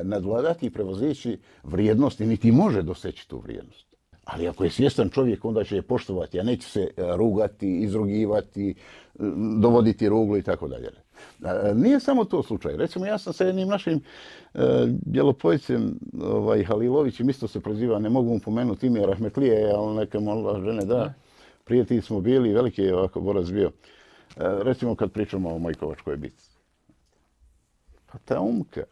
nadvladati i prevozeći vrijednost i niti može doseći tu vrijednost. Ali ako je svjestan čovjek, onda će je poštovati, a neće se rugati, izrugivati, dovoditi ruglu i tako dalje. Nije samo to slučaj. Recimo, ja sam sa jednim našim e, bjelopojcem, ovaj, Halilovićem, isto se proziva, ne mogu mu pomenuti ime Rahmetlije, ali neka molila žene da. Prijatelji smo bili, veliki je ovako borac bio. E, recimo, kad pričamo o Mojkovačkoj bitci. Pa ta Umka,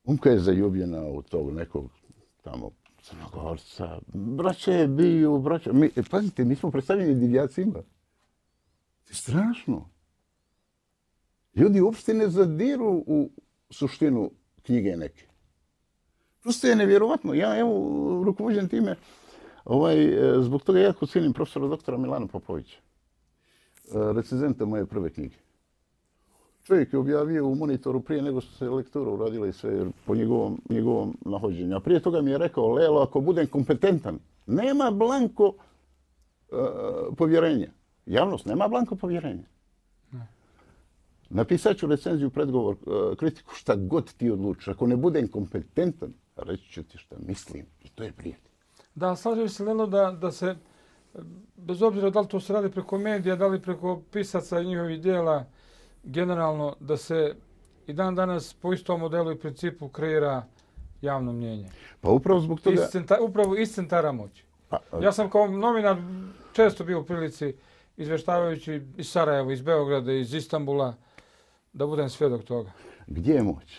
Umka je zaljubljena u tog nekog tamo Crnogorca. Braća je bio, braća. Mi, pazite, mi smo predstavljeni divljacima. Strašno. Ljudi uopšte ne zadiru u suštinu knjige neke. Prosto je nevjerovatno. Ja, evo, rukovođen time, ovaj, zbog toga jako cijenim profesora doktora Milana Popovića, recenzenta moje prve knjige. Čovjek je objavio u Monitoru prije nego što se lektura uradila i sve po njegovom, njegovom nahođenju. A prije toga mi je rekao, Lelo, ako budem kompetentan, nema blanko uh, povjerenja. Javnost nema blanko povjerenja. Ne. Napisat ću recenziju, predgovor, uh, kritiku, šta god ti odlučiš. Ako ne budem kompetentan, reći ću ti šta mislim i to je prijatelj. Da, slažem se, Lelo, da, da se, bez obzira da li to se radi preko medija, da li preko pisaca i njihovih dijela, generalno, da se i dan danas po istom modelu i principu kreira javno mnjenje. Pa upravo zbog toga... Iz centra, upravo iz centara moći. Pa, ja sam kao novinar često bio u prilici, izveštavajući iz Sarajeva, iz Beograda, iz Istanbula, da budem svjedok toga. Gdje je moć?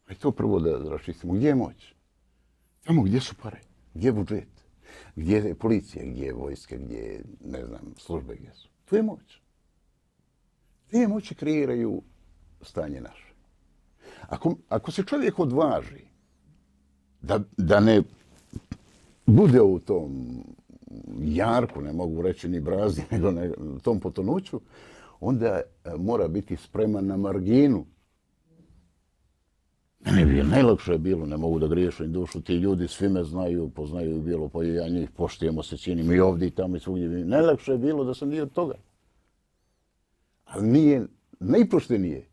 Aj to prvo da raščistimo. Gdje je moć? Tamo gdje su pare? Gdje je budžet? Gdje je policija? Gdje je vojska? Gdje je, ne znam, službe gdje su? To je moć. Te moći kreiraju stanje naše. Ako, ako se čovjek odvaži da, da ne bude u tom jarku, ne mogu reći ni brazi, nego ne, tom potonuću, onda mora biti spreman na marginu. Mene bi najlakše bilo, ne mogu da griješim dušu, ti ljudi svi me znaju, poznaju bilo, pa ja njih poštujemo se, činim i ovdje i tamo i svugdje. Najlakše je bilo da sam dio toga. Ali nije najpoštenije.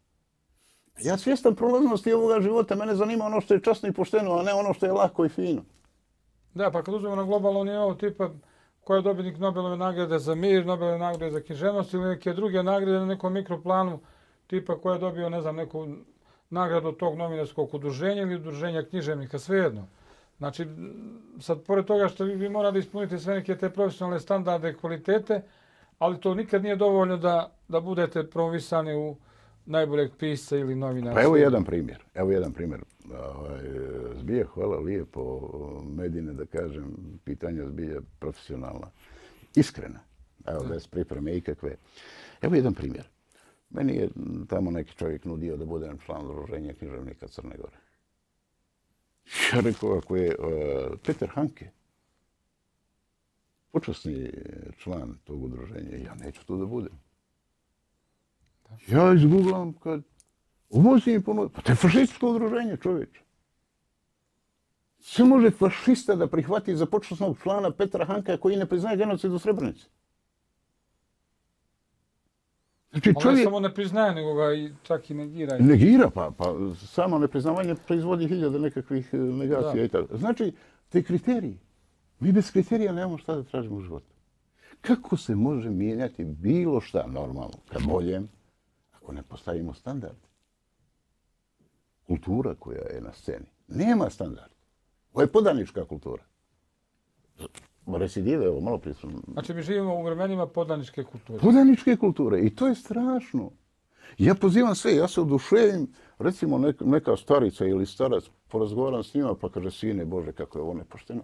Ja svjestan prolaznosti ovoga života, mene zanima ono što je časno i pošteno, a ne ono što je lako i fino. Da, pa kad uzmemo na globalno nivou tipa ko je dobitnik Nobelove nagrade za mir, Nobelove nagrade za književnost ili neke druge nagrade na nekom mikroplanu, tipa ko je dobio, ne znam, neku nagradu tog novinarskog udruženja ili udruženja književnika, svejedno. Znači, sad, pored toga što vi, vi morali ispuniti sve neke te profesionalne standarde i kvalitete, ali to nikad nije dovoljno da, da budete promovisani u najboljeg pisca ili novinara. Pa evo jedan primjer. Evo jedan primjer. Zbija, hvala lijepo, Medine, da kažem, pitanja zbija profesionalna. Iskrena. Evo, bez pripreme ikakve. Evo jedan primjer. Meni je tamo neki čovjek nudio da budem član udruženja književnika Crne Gore. Ja rekao, ako je uh, Peter Hanke, počasni član tog udruženja, ja neću to da budem. Ja izgooglam kad uvozim i ponudim. Pa to je fašističko udruženje, čovječe. Sve može fašista da prihvati za počasnog člana Petra Hanka koji ne priznaje genocid u Srebrenici. Znači, čovjek... On samo ne priznaje, nego ga i čak i negira. Negira, pa, pa samo nepriznavanje proizvodi hiljade nekakvih negacija da. I tako. Znači, te kriteriji. Mi bez kriterija nemamo šta da tražimo u životu. Kako se može mijenjati bilo šta normalno, ka boljem, ako ne postavimo standard? Kultura koja je na sceni nema standard. Ovo je podanička kultura. Recidive, evo, malo prije sam... Znači, mi živimo u vremenima podaničke kulture. Podaničke kulture. I to je strašno. Ja pozivam sve, ja se oduševim, recimo neka, neka starica ili starac, porazgovaram s njima, pa kaže, sine Bože, kako je ovo nepošteno.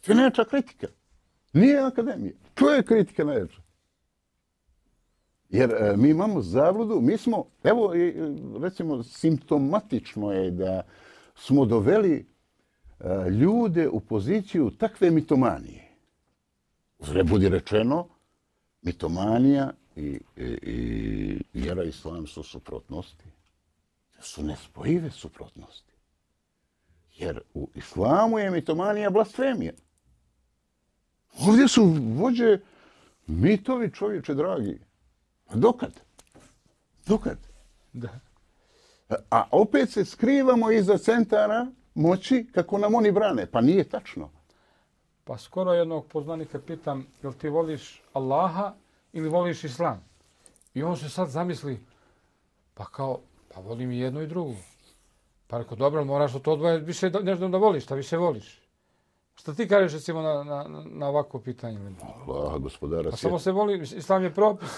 To je najjača kritika. Nije akademija. To je kritika najjača. Jer e, mi imamo zabludu, mi smo, evo, e, recimo, simptomatično je da smo doveli e, ljude u poziciju takve mitomanije. Uzre budi rečeno, mitomanija i, i, i vjera islam su suprotnosti. Su nespojive suprotnosti. Jer u islamu je mitomanija blasfemija. Ovdje su vođe mitovi, čovječe dragi. A dokad? Dokad? Da. A opet se skrivamo iza centara moći kako nam oni brane. Pa nije tačno. Pa skoro jednog poznanika pitam, jel ti voliš Allaha ili voliš Islam? I on se sad zamisli, pa kao, pa volim i jednu i drugu. Pa rekao, dobro, moraš to odvojiti, više nešto da voliš, šta više voliš. Šta ti kažeš recimo na, na, na ovako pitanje? Allah, gospodara pa samo se voli, Islam je propis.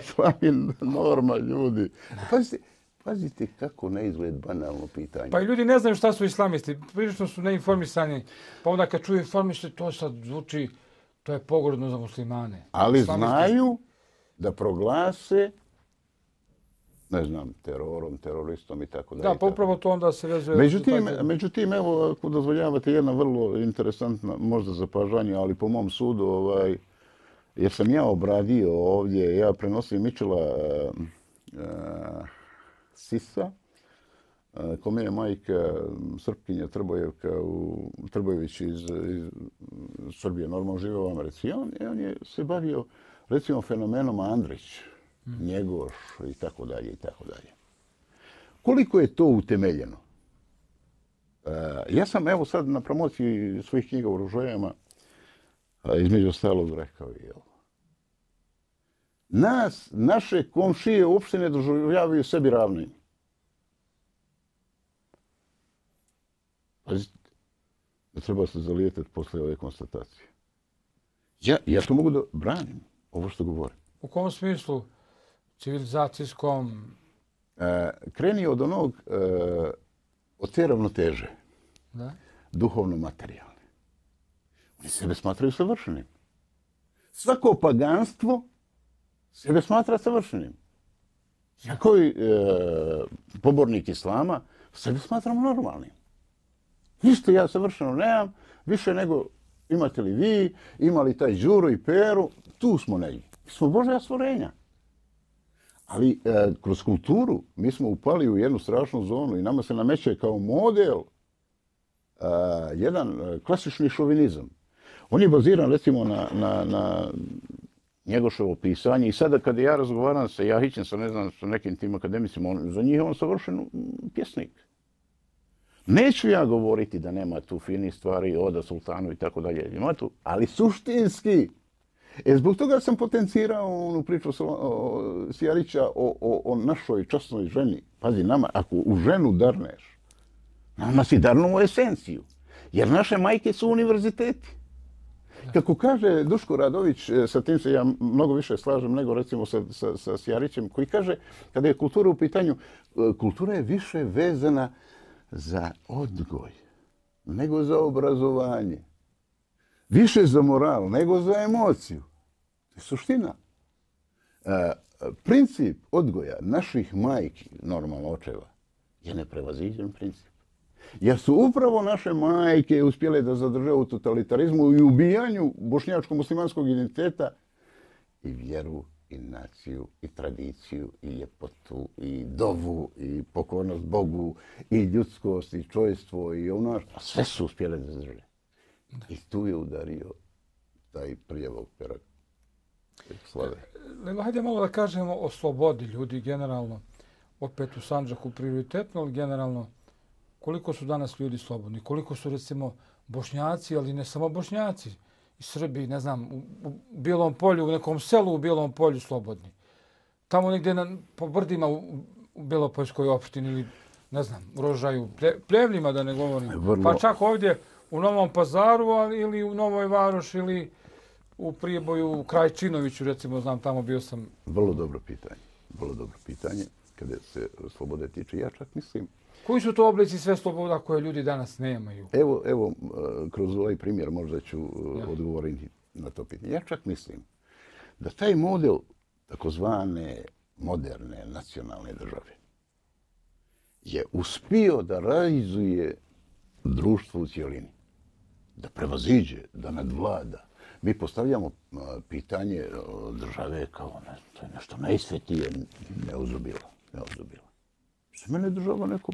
Islam je norma, ljudi. Pazite, pazite kako ne izgled banalno pitanje. Pa i ljudi ne znaju šta su islamisti, prilično su neinformisani. Pa onda kad čuju informište, to sad zvuči, to je pogrdno za muslimane. Ali islamisti... znaju da proglase, ne znam, terorom, teroristom i tako dalje. Da, pa upravo to onda se vezuje... Međutim, međutim, evo, ako dozvoljavate, jedna vrlo interesantna, možda zapažanje, ali po mom sudu, ovaj, jer sam ja obradio ovdje, ja prenosim Mičela uh, uh, Sisa, uh, kome je majka Srpkinja Trbojevka, u, Trbojević iz, iz Srbije, normalno žive u Americi. I on, on je se bavio, recimo, fenomenom Andrić, Njegoš i tako dalje i tako dalje. Koliko je to utemeljeno? Ja sam evo sad na promociji svojih knjiga u Rožojama između ostalog rekao i ovo. Nas, naše komšije uopšte ne doživljavaju sebi ravnim. Pazite, da treba se zalijetati posle ove konstatacije. Ja, ja to mogu da branim, ovo što govorim. U kom smislu? Civilizacijskom? E, kreni od onog, e, od te ravnoteže. Da? Duhovno-materijalne. Oni sebe smatraju savršenim. Svako paganstvo sebe smatra savršenim. Ja koji e, pobornik islama sebe smatram normalnim. Ništa ja savršeno nemam, više nego imate li vi, imali taj Đuro i Peru, tu smo negdje. Mi smo Božja stvorenja. Ali e, kroz kulturu mi smo upali u jednu strašnu zonu i nama se nameće kao model e, jedan klasični šovinizam. On je baziran recimo na, na, na Njegoševo pisanje i sada kada ja razgovaram sa Jahićem, sa ne znam, sa nekim tim akademicima, on, za njih je on savršen pjesnik. Neću ja govoriti da nema tu finih stvari, Oda Sultanu i tako dalje, ima tu, ali suštinski. E, zbog toga sam potencirao onu priču Sjarića o, o, o našoj časnoj ženi. Pazi, nama, ako u ženu darneš, nama si darnuo esenciju. Jer naše majke su univerziteti. Kako kaže Duško Radović, sa tim se ja mnogo više slažem nego recimo sa, sa, sa Sjarićem, koji kaže, kada je kultura u pitanju, kultura je više vezana za odgoj, nego za obrazovanje. Više za moral, nego za emociju. To je suština. E, princip odgoja naših majki, normalno očeva, je neprevaziđen princip. Jer su upravo naše majke uspjele da zadrže u totalitarizmu i ubijanju bošnjačko-muslimanskog identiteta i vjeru, i naciju, i tradiciju, i ljepotu, i dovu, i pokornost Bogu, i ljudskost, i čojstvo, i ono, sve su uspjele da zadrže. I tu je udario taj prijevog perak slave. Lelo, hajde malo da kažemo o slobodi ljudi generalno. Opet u Sandžaku prioritetno, ali generalno koliko su danas ljudi slobodni, koliko su recimo Bošnjaci, ali ne samo Bošnjaci, i Srbi, ne znam, u, u Bijelom polju, u nekom selu u Bijelom polju slobodni. Tamo negdje na, po brdima u, u Bjelopoljskoj opštini ili, ne znam, u Rožaju, plje, pljevljima da ne govorim. Vrlo... Pa čak ovdje u Novom Pazaru ali, ili u Novoj Varoši ili u Priboju, u Krajčinoviću, recimo, znam, tamo bio sam. Vrlo dobro pitanje. Vrlo dobro pitanje. Kada se slobode tiče, ja čak mislim... Koji su to oblici sve sloboda koje ljudi danas nemaju? Evo, evo kroz ovaj primjer možda ću ja. odgovoriti na to pitanje. Ja čak mislim da taj model takozvane moderne nacionalne države je uspio da realizuje društvo u cijelini. Da prevaziđe, da nadvlada. Mi postavljamo pitanje države kao ne, to je nešto najsvetije, neuzubila. neuzubila. Za mene je država neko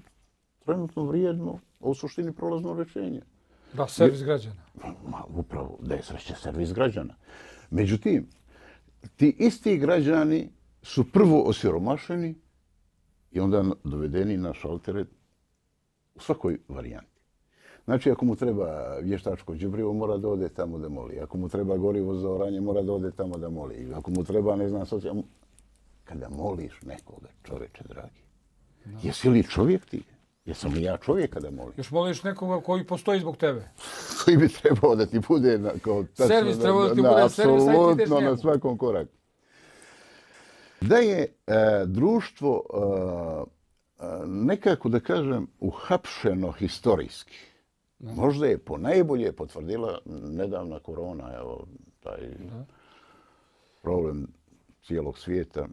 trenutno vrijedno, a u suštini prolazno rješenje. Da, servis građana. Ma, upravo, da je sreće servis građana. Međutim, ti isti građani su prvo osiromašeni i onda dovedeni na šaltere u svakoj varijanti. Znači, ako mu treba vještačko đubrivo, mora da ode tamo da moli. Ako mu treba gorivo za oranje, mora da ode tamo da moli. Ako mu treba, ne znam, socijalno... Kada moliš nekoga, čoveče dragi, no. Jesi li čovjek ti? Jesam li ja čovjek kada molim? Još moliš nekoga koji postoji zbog tebe? Koji bi trebao da ti bude na, kao tačno, servis trebao da ti na, bude servis, apsolutno na svakom koraku. Da je e, društvo e, nekako, da kažem, uhapšeno historijski. No. Možda je po najbolje potvrdila nedavna korona, evo, taj no. problem cijelog svijeta.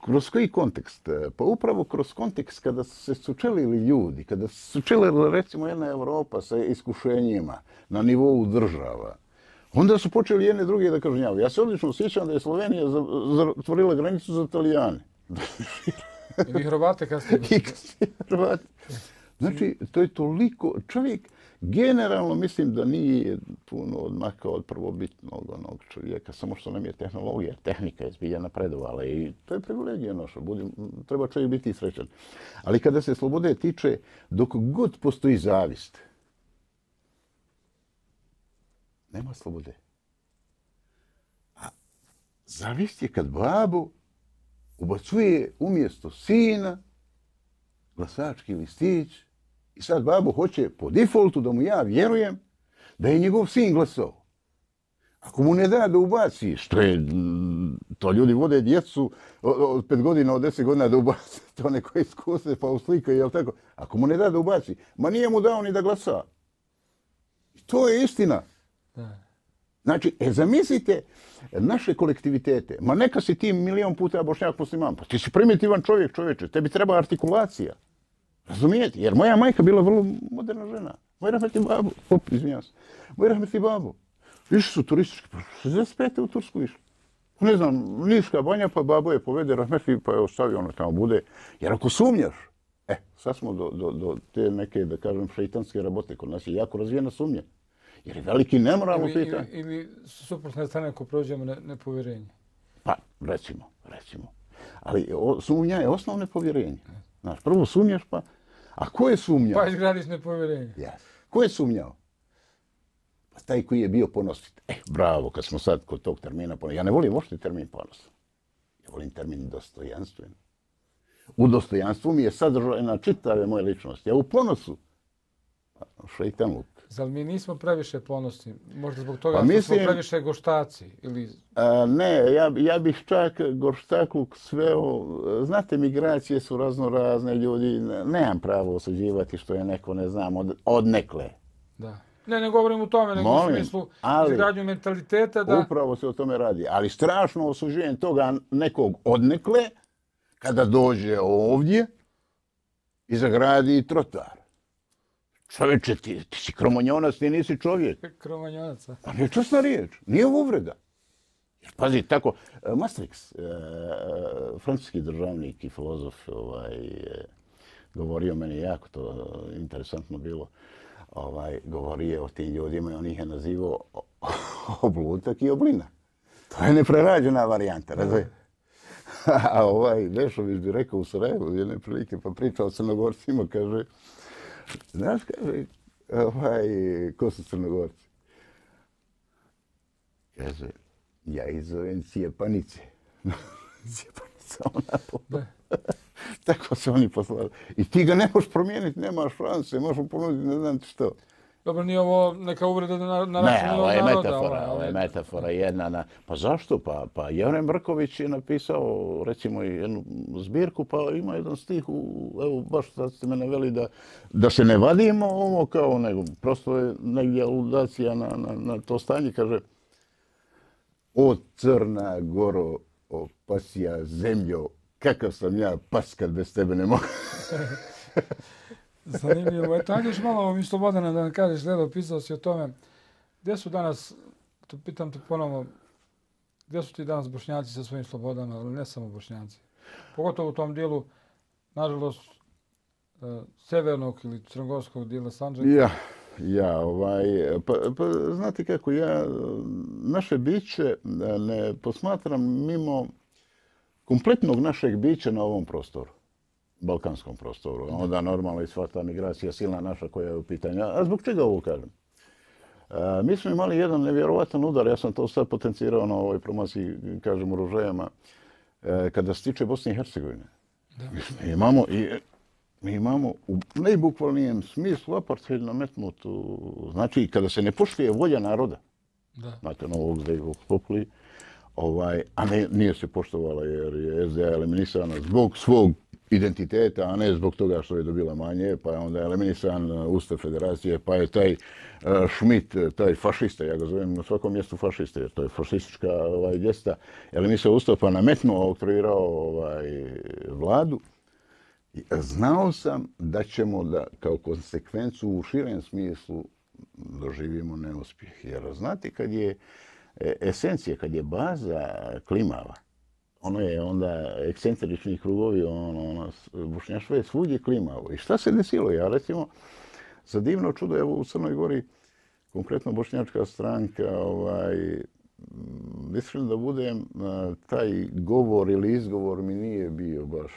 Kroz koji kontekst? Pa upravo kroz kontekst kada su se sučelili ljudi, kada su sučelila recimo jedna Evropa sa iskušenjima na nivou država, onda su počeli jedne druge da kažnjavaju. Ja se odlično sjećam da je Slovenija zatvorila granicu za Italijane. I Hrvate kasnije. I kasnije Hrvate. Znači, to je toliko... Čovjek generalno mislim da nije puno odmakao od prvobitnog onog čovjeka, samo što nam je tehnologija, tehnika je zbilja napredovala i to je privilegija naša, budim, treba čovjek biti srećan. Ali kada se slobode tiče, dok god postoji zavist, nema slobode. A zavist je kad babu ubacuje umjesto sina glasački listić i sad babu hoće po defaultu da mu ja vjerujem da je njegov sin glasao. Ako mu ne da da ubaci, što je, to ljudi vode djecu od pet godina, od deset godina da ubaci, to neko iskuse pa uslikaju, jel tako? Ako mu ne da da ubaci, ma nije mu dao ni da glasa. To je istina. Da. Znači, e, zamislite naše kolektivitete. Ma neka si ti milion puta Bošnjak musliman, pa ti si primitivan čovjek, čovječe, tebi treba artikulacija. Razumijete? Jer moja majka bila vrlo moderna žena. Moj rahmetli babu, op, izvinjam se, moj rahmetli babu, više su turistički, pa šezdeset pete u Tursku išli. Ne znam, Niška banja, pa babo je povede rahmetli, pa je ostavio ono tamo bude. Jer ako sumnjaš, e, sad smo do, do, do te neke, da kažem, šeitanske rabote, kod nas je jako razvijena sumnja. Jer je veliki nemoralno pitanje. Ili, ili suprotne strane ako prođemo ne, nepovjerenje. Pa, recimo, recimo. Ali o, sumnja je osnovno povjerenje. Znaš, prvo sumnjaš, pa... A ko je sumnjao? Pa izgradiš nepovjerenje. Ja. Ko je sumnjao? Pa taj koji je bio ponositi. Eh, bravo, kad smo sad kod tog termina ponositi. Ja ne volim uopšte termin ponos. Ja volim termin dostojanstven. U dostojanstvu mi je sadržajna čitave moje ličnosti. A u ponosu, šeitan luk. Zar mi nismo previše ponosni? Možda zbog toga pa što mislim, smo previše goštaci? Ili... A, ne, ja, ja bih čak gorštakluk sveo... Znate, migracije su razno razne ljudi. Nemam pravo osuđivati što je neko, ne znam, od, odnekle. Da. Ne, ne govorim u tome, nego Molim, u smislu izgradnju mentaliteta. Da... Upravo se o tome radi. Ali strašno osuđujem toga nekog odnekle kada dođe ovdje i zagradi trotoar. Čovječe, ti, ti si kromonjonac, ti nisi čovjek. Kromonjonac, a? Pa nije časna riječ, nije uvreda. Jer pazi, tako, Maastricht, e, francuski državnik i filozof, ovaj, govorio meni jako to interesantno bilo, ovaj, govorio o tim ljudima i on ih je nazivao oblutak i oblina. To je neprerađena varijanta, razumije? A ovaj Dešović bi rekao u Sarajevu jedne prilike, pa pričao o Crnogorcima, kaže, znaš, kaže, ovaj, ko su Crnogorci? Kaže, ja izovem Cijepanice. Cijepanica, ona po... Tako se oni poslali. I ti ga ne možeš promijeniti, nemaš šanse, možeš mu ponuditi, ne znam ti što. Dobro, nije ovo neka uvreda na, na ne, ovo je naroda, metafora, ovo je metafora jedna na... Pa zašto? Pa, pa Jevren Brković je napisao, recimo, jednu zbirku, pa ima jedan stih, u, evo, baš sad ste me naveli da, da se ne vadimo ovo kao nego, prosto je negdje aludacija na, na, na to stanje, kaže, o Crna Goro, o pasija zemljo, kakav sam ja pas kad bez tebe ne mogu. Zanimljivo. Eto, ajde još malo ovom Slobodana da nam kažeš, Lelo, pisao si o tome. Gdje su danas, to pitam te ponovno, gdje su ti danas Bošnjaci sa svojim slobodama, ali ne samo Bošnjaci? Pogotovo u tom dijelu, nažalost, severnog ili crnogorskog dijela Sandžaka. Ja, ja, ovaj, pa, pa znate kako, ja naše biće ne posmatram mimo kompletnog našeg bića na ovom prostoru. Balkanskom prostoru. Onda normalno i sva ta migracija silna naša koja je u pitanju. A zbog čega ovo kažem? E, mi smo imali jedan nevjerovatan udar, ja sam to sad potencirao na ovoj promociji, kažem, u Ružajama, e, kada se tiče Bosne i Hercegovine. Mi imamo, i, mi imamo u najbukvalnijem smislu apartheid nametnutu, znači kada se ne poštuje volja naroda, da. Znate, novog zdejvog populi, ovaj, a ne, nije se poštovala jer je S D A eliminisana zbog svog identiteta, a ne zbog toga što je dobila manje, pa je onda eliminisan Ustav federacije, pa je taj uh, Schmidt, taj fašista, ja ga zovem na svakom mjestu fašista, jer to je fašistička ovaj, gesta, eliminisao Ustav, pa nametnuo, oktroirao ovaj, vladu. I znao sam da ćemo da, kao konsekvencu u širem smislu doživimo neuspjeh. Jer znate, kad je esencija, kad je baza klimava, ono je onda ekscentrični krugovi, ono, ono, Bošnjaštvo je svugdje klimavo. I šta se desilo? Ja recimo za divno čudo, evo u Crnoj Gori, konkretno bošnjačka stranka, ovaj, mislim da budem, taj govor ili izgovor mi nije bio baš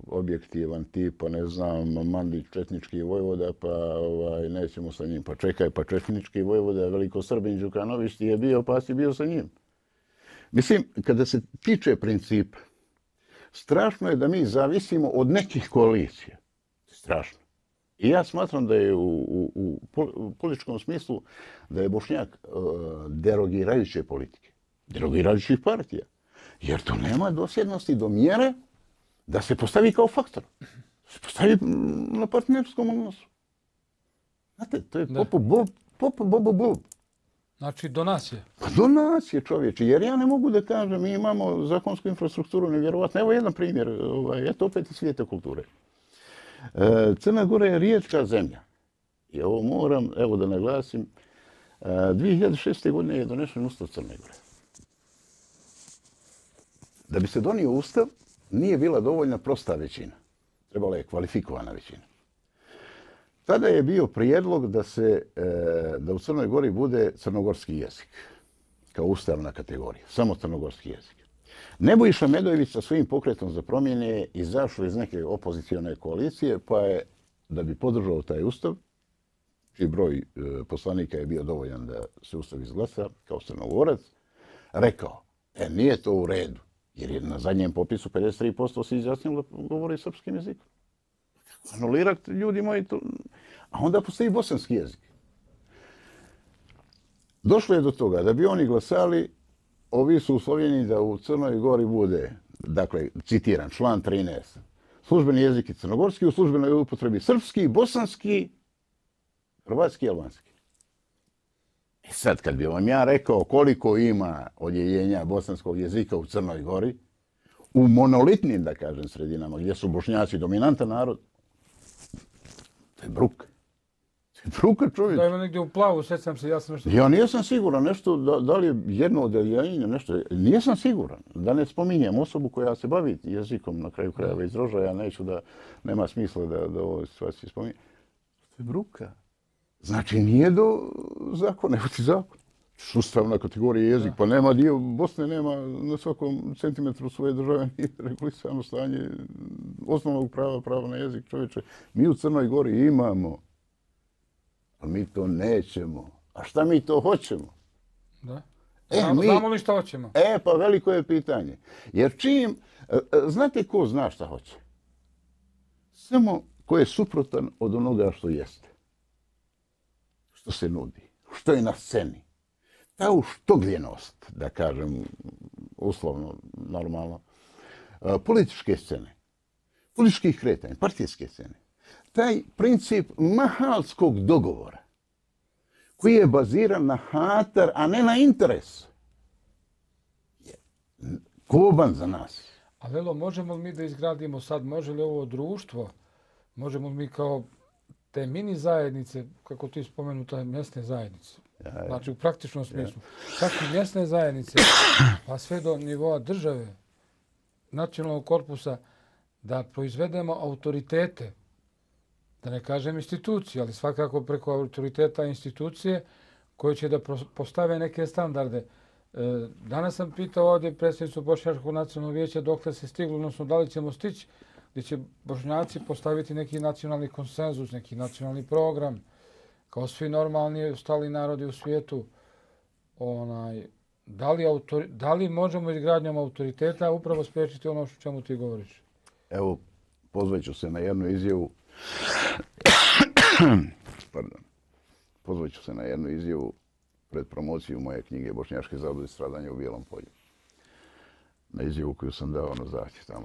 objektivan, tipa, ne znam, Mandić četnički vojvoda, pa ovaj, nećemo sa njim, pa čekaj, pa četnički vojvoda, veliko Srbin Đukanović ti je bio, pa si bio sa njim. Mislim, kada se tiče principa, strašno je da mi zavisimo od nekih koalicija. Strašno. I ja smatram da je u, u, u političkom smislu da je Bošnjak uh, derogirajuće politike, derogirajućih partija. Jer to nema dosljednosti do mjere da se postavi kao faktor. Da se postavi na partnerskom odnosu. Znate, to je popo bob, popo bobo bob. Znači, do nas je. Pa do nas je, čovječe. Jer ja ne mogu da kažem, mi imamo zakonsku infrastrukturu nevjerovatno. Evo jedan primjer, ovaj, eto opet iz svijeta kulture. Crna Gora je rijetka zemlja. I ovo moram, evo da naglasim, dvije hiljade šeste. godine je donešen Ustav Crne Gore. Da bi se donio Ustav, nije bila dovoljna prosta većina. Trebala je kvalifikovana većina. Tada je bio prijedlog da se da u Crnoj Gori bude crnogorski jezik kao ustavna kategorija, samo crnogorski jezik. Nebojša Medojević sa svojim pokretom za promjene je izašao iz neke opozicione koalicije, pa je, da bi podržao taj ustav, čiji broj poslanika je bio dovoljan da se ustav izglasa kao Crnogorac, rekao, e, nije to u redu, jer je na zadnjem popisu pedeset tri posto se izjasnilo da govori srpskim jezikom. Anulirati, ljudi moji, to... A onda postoji bosanski jezik. Došlo je do toga da bi oni glasali, ovi su uslovljeni da u Crnoj Gori bude, dakle, citiram, član trinaest, službeni jezik je crnogorski, u službenoj upotrebi srpski, bosanski, hrvatski i albanski. E sad, kad bi vam ja rekao koliko ima odjeljenja bosanskog jezika u Crnoj Gori, u monolitnim, da kažem, sredinama, gdje su Bošnjaci dominantan narod, to je bruka. To je bruka, čovječ. Da ima negdje u Plavu, sjećam se, ja sam nešto... Ja nisam siguran nešto, da, da li je jedno odjeljenje, nešto, nisam siguran. Da ne spominjem osobu koja se bavi jezikom na kraju krajeva iz Rožaja, ja neću da, nema smisla da, da ovo situacije spominjem. To je bruka. Znači, nije do zakona, evo ti zakon. Ustavna kategorija jezik, pa nema dio Bosne, nema na svakom centimetru svoje države nije regulisano stanje osnovnog prava, prava na jezik, čovječe. Mi u Crnoj Gori imamo, ali mi to nećemo. A šta mi to hoćemo? Da. E, znamo, mi, znamo li šta hoćemo? E, pa veliko je pitanje. Jer čim, znate ko zna šta hoće? Samo ko je suprotan od onoga što jeste. Što se nudi. Što je na sceni. Ta uštogljenost, da kažem, uslovno, normalno, političke scene, političkih kretanja, partijske scene, taj princip mahalskog dogovora, koji je baziran na hatar, a ne na interes, je koban za nas. A Lelo, možemo li mi da izgradimo sad, može li ovo društvo, možemo li mi kao te mini zajednice, kako ti spomenuta, mjesne zajednice, znači u praktičnom smislu, čak i mjesne zajednice, pa sve do nivoa države, nacionalnog korpusa, da proizvedemo autoritete, da ne kažem institucije, ali svakako preko autoriteta institucije koje će da postave neke standarde. Danas sam pitao ovdje predsjednicu Bošnjačkog nacionalnog vijeća dokle se stiglo, odnosno da li ćemo stići, gdje će Bošnjaci postaviti neki nacionalni konsenzus, neki nacionalni program, kao svi normalni ostali narodi u svijetu. Onaj, da, li autori, da li možemo izgradnjom autoriteta upravo spriječiti ono što čemu ti govoriš? Evo, pozvat ću se na jednu izjavu. Pardon. Pozvat ću se na jednu izjavu pred promociju moje knjige Bošnjačke zablude stradanja u Bijelom polju. Na izjavu koju sam dao na zahtjev tamo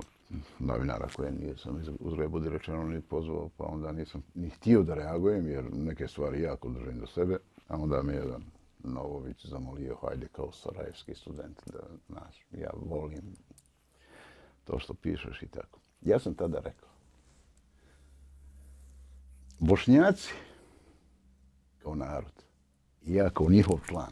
novinara koje nisam uzgled budi rečeno ni pozvao, pa onda nisam ni htio da reagujem jer neke stvari jako držim do sebe, a onda me jedan Novović zamolio, hajde kao sarajevski student, da znaš, ja volim to što pišeš i tako. Ja sam tada rekao, Bošnjaci kao narod, ja kao njihov član,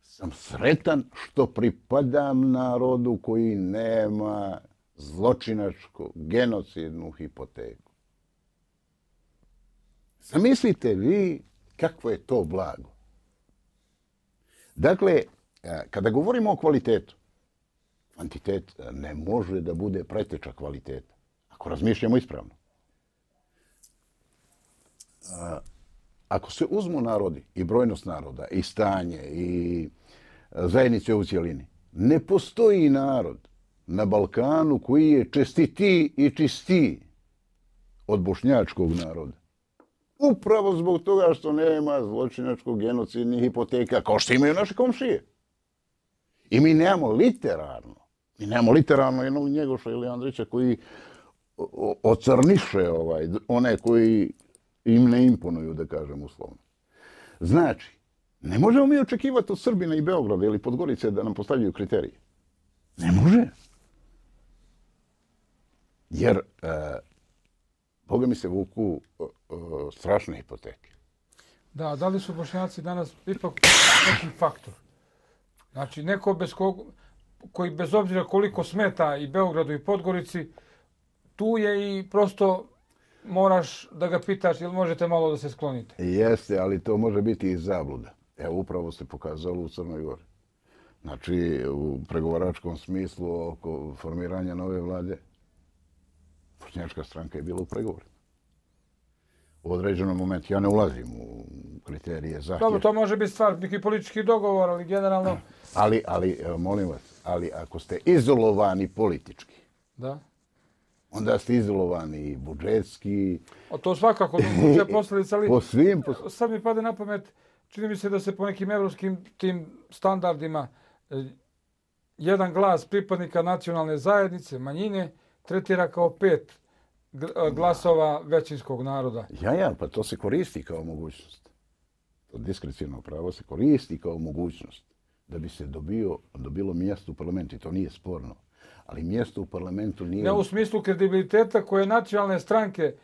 sam sretan što pripadam narodu koji nema zločinačku, genocidnu hipoteku. Zamislite vi kakvo je to blago. Dakle, kada govorimo o kvalitetu, kvantitet ne može da bude preteča kvaliteta. Ako razmišljamo ispravno. Ako se uzmu narodi i brojnost naroda i stanje i zajednice u cjelini, ne postoji narod na Balkanu koji je čestitiji i čistiji od bošnjačkog naroda. Upravo zbog toga što nema zločinačkog genocidnih hipoteka, kao što imaju naše komšije. I mi nemamo literarno, mi nemamo literarno jednog Njegoša ili Andrića koji ocrniše ovaj, one koji im ne imponuju, da kažem uslovno. Znači, ne možemo mi očekivati od Srbina i Beograda ili Podgorice da nam postavljaju kriterije. Ne može. Jer, e, Boga mi se vuku e, e, strašne hipoteke. Da, da li su Bošnjaci danas ipak neki faktor? Znači, neko bez kog, koji bez obzira koliko smeta i Beogradu i Podgorici, tu je i prosto moraš da ga pitaš ili možete malo da se sklonite. Jeste, ali to može biti i zabluda. Evo, upravo se pokazalo u Crnoj Gori. Znači, u pregovaračkom smislu oko formiranja nove vlade, bošnjačka stranka je bila u pregovorima. U određenom momentu, ja ne ulazim u kriterije zahtjeva. Dobro, to može biti stvar, neki politički dogovor, ali generalno... Ali, ali, molim vas, ali ako ste izolovani politički, da, onda ste izolovani i budžetski. O, to svakako je posljedica, ali po svim, po... sad mi pade na pamet, čini mi se da se po nekim evropskim tim standardima jedan glas pripadnika nacionalne zajednice, manjine, tretira kao pet glasova većinskog naroda. Ja, ja, pa to se koristi kao mogućnost. To diskrecijno pravo se koristi kao mogućnost da bi se dobio, dobilo mjesto u parlamentu. I to nije sporno. Ali mjesto u parlamentu nije... Ne u smislu kredibiliteta koje nacionalne stranke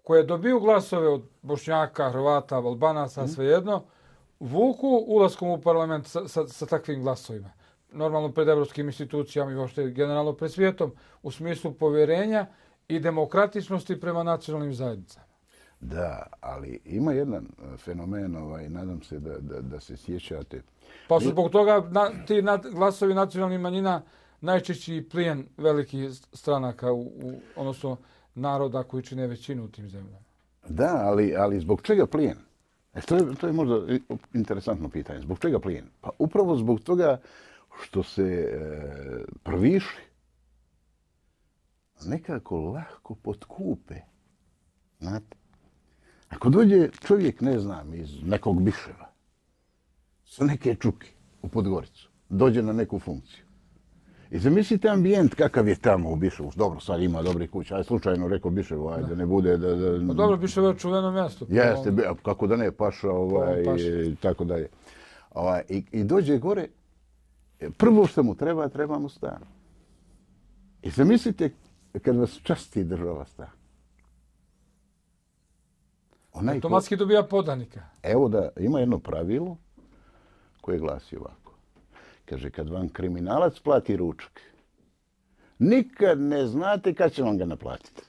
koje dobiju glasove od Bošnjaka, Hrvata, Albanaca, hmm. svejedno, vuku ulaskom u parlament sa, sa, sa takvim glasovima. Normalno pred evropskim institucijama i uopšte generalno pred svijetom u smislu povjerenja i demokratičnosti prema nacionalnim zajednicama. Da, ali ima jedan fenomen, ovaj, nadam se da, da, da se sjećate. Pa su zbog toga na, ti na, glasovi nacionalnih manjina najčešći plijen velikih stranaka, u, u, odnosno naroda koji čine većinu u tim zemljama. Da, ali, ali zbog čega plijen? E, to, je, to je možda interesantno pitanje. Zbog čega plijen? Pa upravo zbog toga što se e, prviši nekako lahko potkupe. Znate? Ako dođe čovjek, ne znam, iz nekog Biševa, sa neke čuke u Podgoricu, dođe na neku funkciju. I zamislite ambijent kakav je tamo u Biševu. Dobro, sad ima dobri kuća. Aj, slučajno rekao Biševu, ajde, ne bude da... da... Pa dobro, Biševo je čuveno mjesto. Jeste, kako da ne, paša, ovaj, i tako dalje. Ovaj, i, I dođe gore, prvo što mu treba, treba mu stan. I zamislite kad vas časti država stan. Onaj automatski ko... dobija podanika. Evo da, ima jedno pravilo koje glasi ovako. Kaže, kad vam kriminalac plati ručak, nikad ne znate kad će vam ga naplatiti.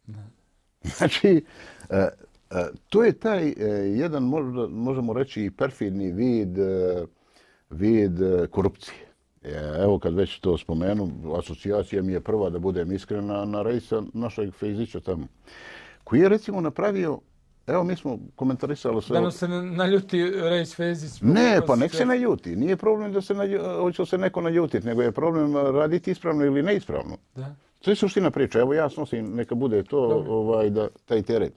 Ne. Znači, uh, uh, to je taj uh, jedan, možda, možemo reći, perfidni vid, uh, vid uh, korupcije. Evo, kad već to spomenu, asocijacija mi je prva, da budem iskrena, na Rejsa našeg Fejzića tamo, koji je, recimo, napravio... Evo, mi smo komentarisali sve... Da nam se naljuti Rejs Fejzić? Ne, pa nek se naljuti. Nije problem da se naljuti, hoće se neko naljutiti, nego je problem raditi ispravno ili neispravno. Da. To je suština priča. Evo, ja snosim, neka bude to, ovaj, da, taj teret.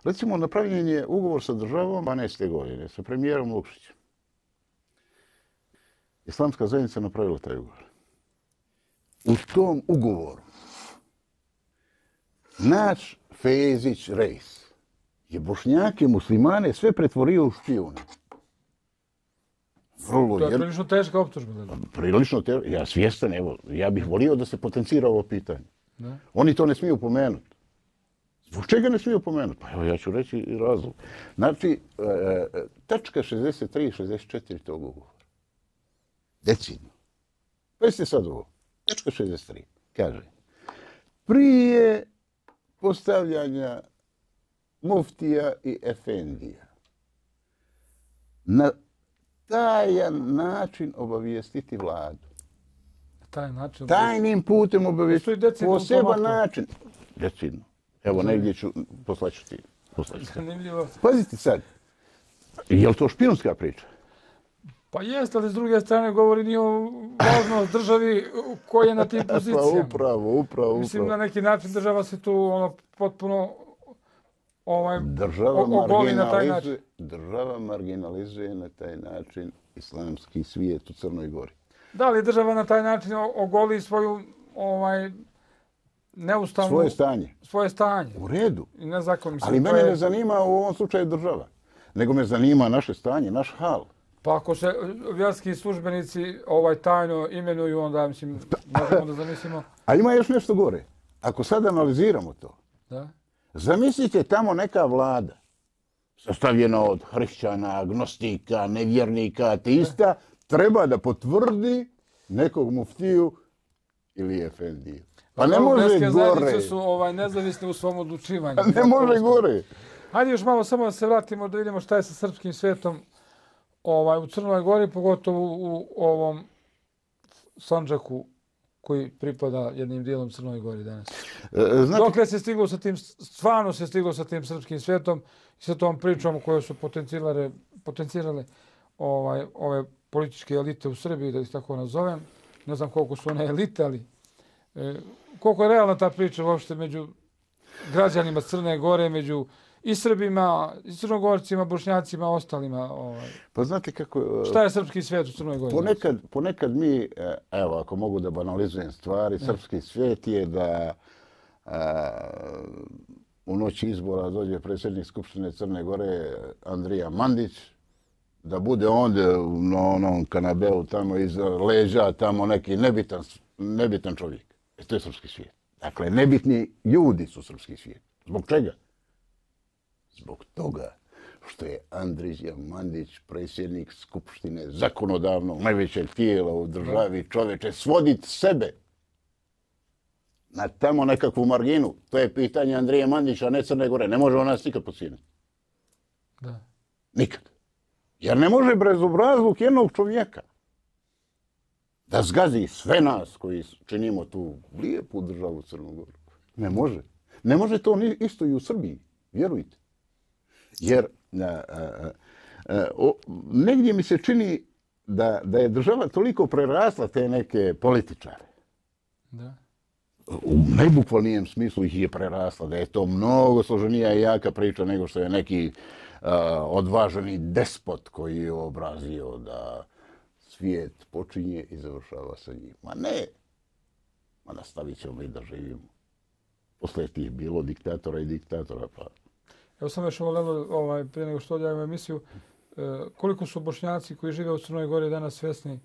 Recimo, napravljen je ugovor sa državom dvanaeste godine, sa premijerom Lukšićem. Islamska zajednica napravila taj ugovor. U tom ugovoru naš Fejzić Rejs je Bošnjake, muslimane sve pretvorio u špijune. Vrlo, to je prilično teška optužba. Prilično teška. Ja svjestan, evo, ja bih volio da se potencira ovo pitanje. Ne? Oni to ne smiju pomenuti. Zbog čega ne smiju pomenuti? Pa evo, ja ću reći razlog. Znači, e, tačka šezdeset tri i šezdeset četiri tog ugovora. Decidno. Pazite sad ovo. Tačka šezdeset tri. Kaže, prije postavljanja muftija i efendija na tajan način obavijestiti vladu. Taj način. Tajnim putem obavijestiti. Poseban način. Decidno. Evo, negdje ću, poslaću ti. Zanimljivo. Pazite sad. Je li to špijunska priča? Pa jest, ali s druge strane govori nije o važnost državi koji je na tim pozicijama. Pa upravo, upravo. Mislim, na neki način država se tu ono, potpuno ovaj, država ogoli na taj način. Država marginalizuje na taj način islamski svijet u Crnoj Gori. Da li država na taj način ogoli svoju ovaj, neustavnu... Svoje stanje. Svoje stanje. U redu. I ne zakon, mislim, ali mene je... ne zanima u ovom slučaju država, nego me zanima naše stanje, naš hal. Pa ako se vjerski službenici ovaj tajno imenuju, onda mislim, možemo da zamislimo... A ima još nešto gore. Ako sad analiziramo to, da? Zamislite tamo neka vlada, sastavljena od hrišćana, agnostika, nevjernika, ateista, da. Treba da potvrdi nekog muftiju ili efendiju. Pa ne može gore. Su ovaj, nezavisni u svom odlučivanju. Ne može gore. Hajde još malo samo da se vratimo da vidimo šta je sa srpskim svijetom ovaj, u Crnoj Gori, pogotovo u, u ovom Sandžaku koji pripada jednim dijelom Crnoj Gori danas. E, znači... Dokle se stiglo sa tim, stvarno se stiglo sa tim srpskim svijetom i sa tom pričom koje su potencirale, potencirale ovaj, ove političke elite u Srbiji, da ih tako nazovem. Ne znam koliko su one elite, ali e, koliko je realna ta priča uopšte među građanima Crne Gore, među i Srbima, i Crnogorcima, Bošnjacima, ostalima. Ovaj. Pa znate kako... Šta je srpski svijet u Crnoj Gori? Ponekad, ponekad mi, evo, ako mogu da banalizujem stvari, ne. Srpski svijet je da a, u noći izbora dođe predsjednik Skupštine Crne Gore Andrija Mandić, da bude onda na onom kanabeu tamo iza leđa, tamo neki nebitan, nebitan čovjek. E, to je srpski svijet. Dakle, nebitni ljudi su srpski svijet. Zbog čega? Zbog toga što je Andrija Mandić, predsjednik Skupštine zakonodavnog najvećeg tijela u državi, čoveče, svoditi sebe na tamo nekakvu marginu. To je pitanje Andrije Mandića, a ne Crne Gore. Ne može on nas nikad pocijeniti. Da. Nikad. Jer ne može bezobrazluk jednog čovjeka da zgazi sve nas koji činimo tu lijepu državu Crnu Goru. Ne može. Ne može to isto i u Srbiji. Vjerujte. Jer a, a, a, o, negdje mi se čini da, da je država toliko prerasla te neke političare. Da. U najbukvalnijem smislu ih je prerasla. Da je to mnogo složenija i jaka priča nego što je neki a, odvaženi despot koji je obrazio da svijet počinje i završava sa njim. Ma ne. Ma nastavit ćemo i da živimo. Posle tih bilo diktatora i diktatora pa... Evo sam još volelo, ovaj, prije nego što odjavimo emisiju, e, koliko su Bošnjaci koji žive u Crnoj Gori danas svjesni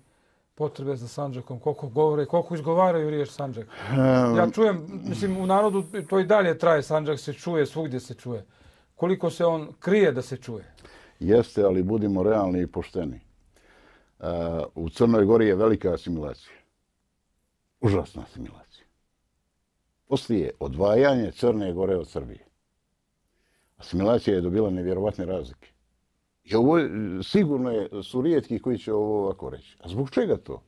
potrebe za Sandžakom, koliko govore, koliko izgovaraju riječ Sandžak. Um, ja čujem, mislim, u narodu to i dalje traje, Sandžak se čuje, svugdje se čuje. Koliko se on krije da se čuje? Jeste, ali budimo realni i pošteni. Uh, u Crnoj Gori je velika asimilacija. Užasna asimilacija. Poslije odvajanje Crne Gore od Srbije. Asimilacija je dobila nevjerovatne razlike. I ovo sigurno je, su rijetki koji će ovo ovako reći. A zbog čega to?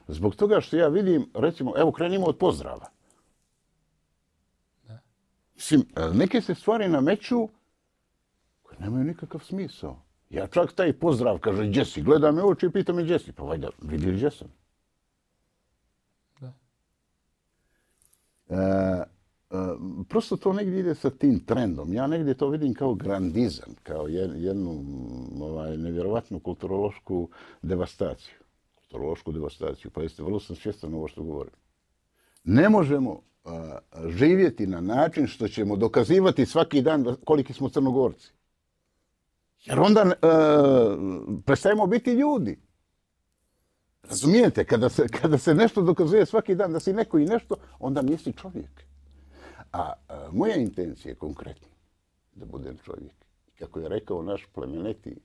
Zbog toga što ja vidim, recimo, evo krenimo od pozdrava. Da. Mislim, neke se stvari nameću koje nemaju nikakav smisao. Ja čak taj pozdrav, kaže, gdje si? Gleda me oči i pita me gdje si. Pa valjda, vidi gdje sam. Da. E, prosto to negdje ide sa tim trendom. Ja negdje to vidim kao grandizam, kao jednu ovaj, nevjerovatnu kulturološku devastaciju. Kulturološku devastaciju. Pa jeste, vrlo sam svjestan ovo što govorim. Ne možemo uh, živjeti na način što ćemo dokazivati svaki dan da, koliki smo Crnogorci. Jer onda uh, prestajemo biti ljudi. Razumijete? Kada se, kada se nešto dokazuje svaki dan da si neko i nešto, onda nisi čovjek. A, a moja intencija je konkretno da budem čovjek. Kako je rekao naš plemeniti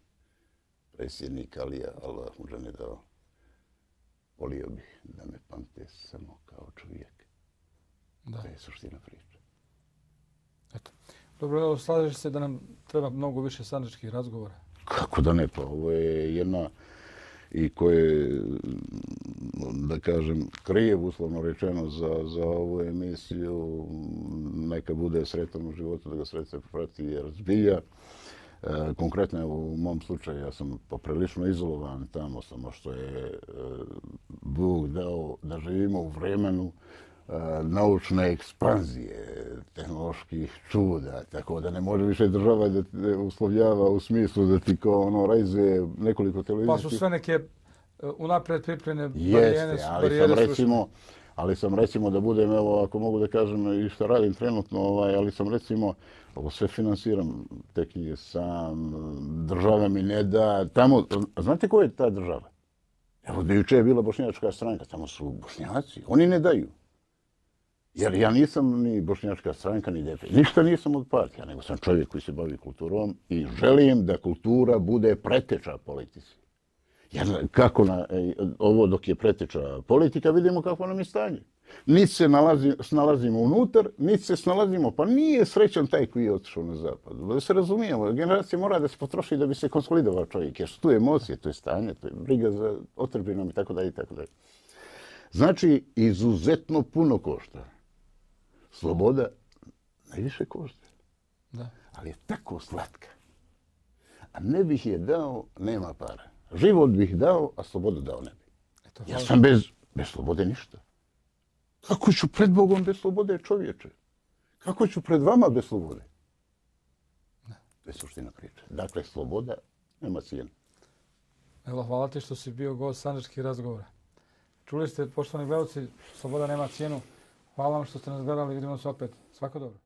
predsjednik Alija, Allah mu ne dao, volio bih da me pamte samo kao čovjek. Da. To je suština priče. Eto. Dobro, evo, slažeš se da nam treba mnogo više sandžačkih razgovora? Kako da ne, pa ovo je jedna i koje, da kažem, krijev, uslovno rečeno, za, za ovu emisiju. Neka bude sretan u životu, da ga sreće prati jer zbilja. E, konkretno u mom slučaju ja sam poprilično izolovan tamo, samo što je e, Bog dao da živimo u vremenu e, naučne ekspanzije, tehnoloških čuda, tako da ne može više država da te uslovljava u smislu da ti kao ono rajze nekoliko televizijskih... Pa su sve neke unaprijed pripremljene barijere, ali sam recimo, ali sam recimo da budem, evo ako mogu da kažem i što radim trenutno, ovaj, ali sam recimo ovo sve finansiram, te knjige sam, država mi ne da, tamo, znate koja je ta država? Evo da juče je bila bošnjačka stranka, tamo su Bošnjaci, oni ne daju. Jer ja nisam ni bošnjačka stranka, ni D P, ništa nisam od partija, nego sam čovjek koji se bavi kulturom i želim da kultura bude preteča politici. Jer kako na, ovo dok je preteča politika, vidimo kako nam je stanje. Niti se nalazi, snalazimo unutar, niti se snalazimo, pa nije srećan taj koji je otišao na zapad. Da se razumijemo, generacija mora da se potroši da bi se konsolidovao čovjek, jer su tu emocije, to je stanje, to je briga za otrbinom i tako dalje i tako dalje. Znači, izuzetno puno košta. Sloboda najviše košta. Da. Ali je tako slatka. A ne bih je dao, nema para. Život bih dao, a slobodu dao ne bi. Ja sam bez, bez slobode ništa. Kako ću pred Bogom bez slobode, čovječe? Kako ću pred vama bez slobode? To je suština priče. Dakle, sloboda nema cijenu. Evo, hvala ti što si bio gost sandžačkih razgovora. Čuli ste, poštovani gledalci, sloboda nema cijenu. Hvala vam što ste nas gledali. Vidimo se opet. Svako dobro.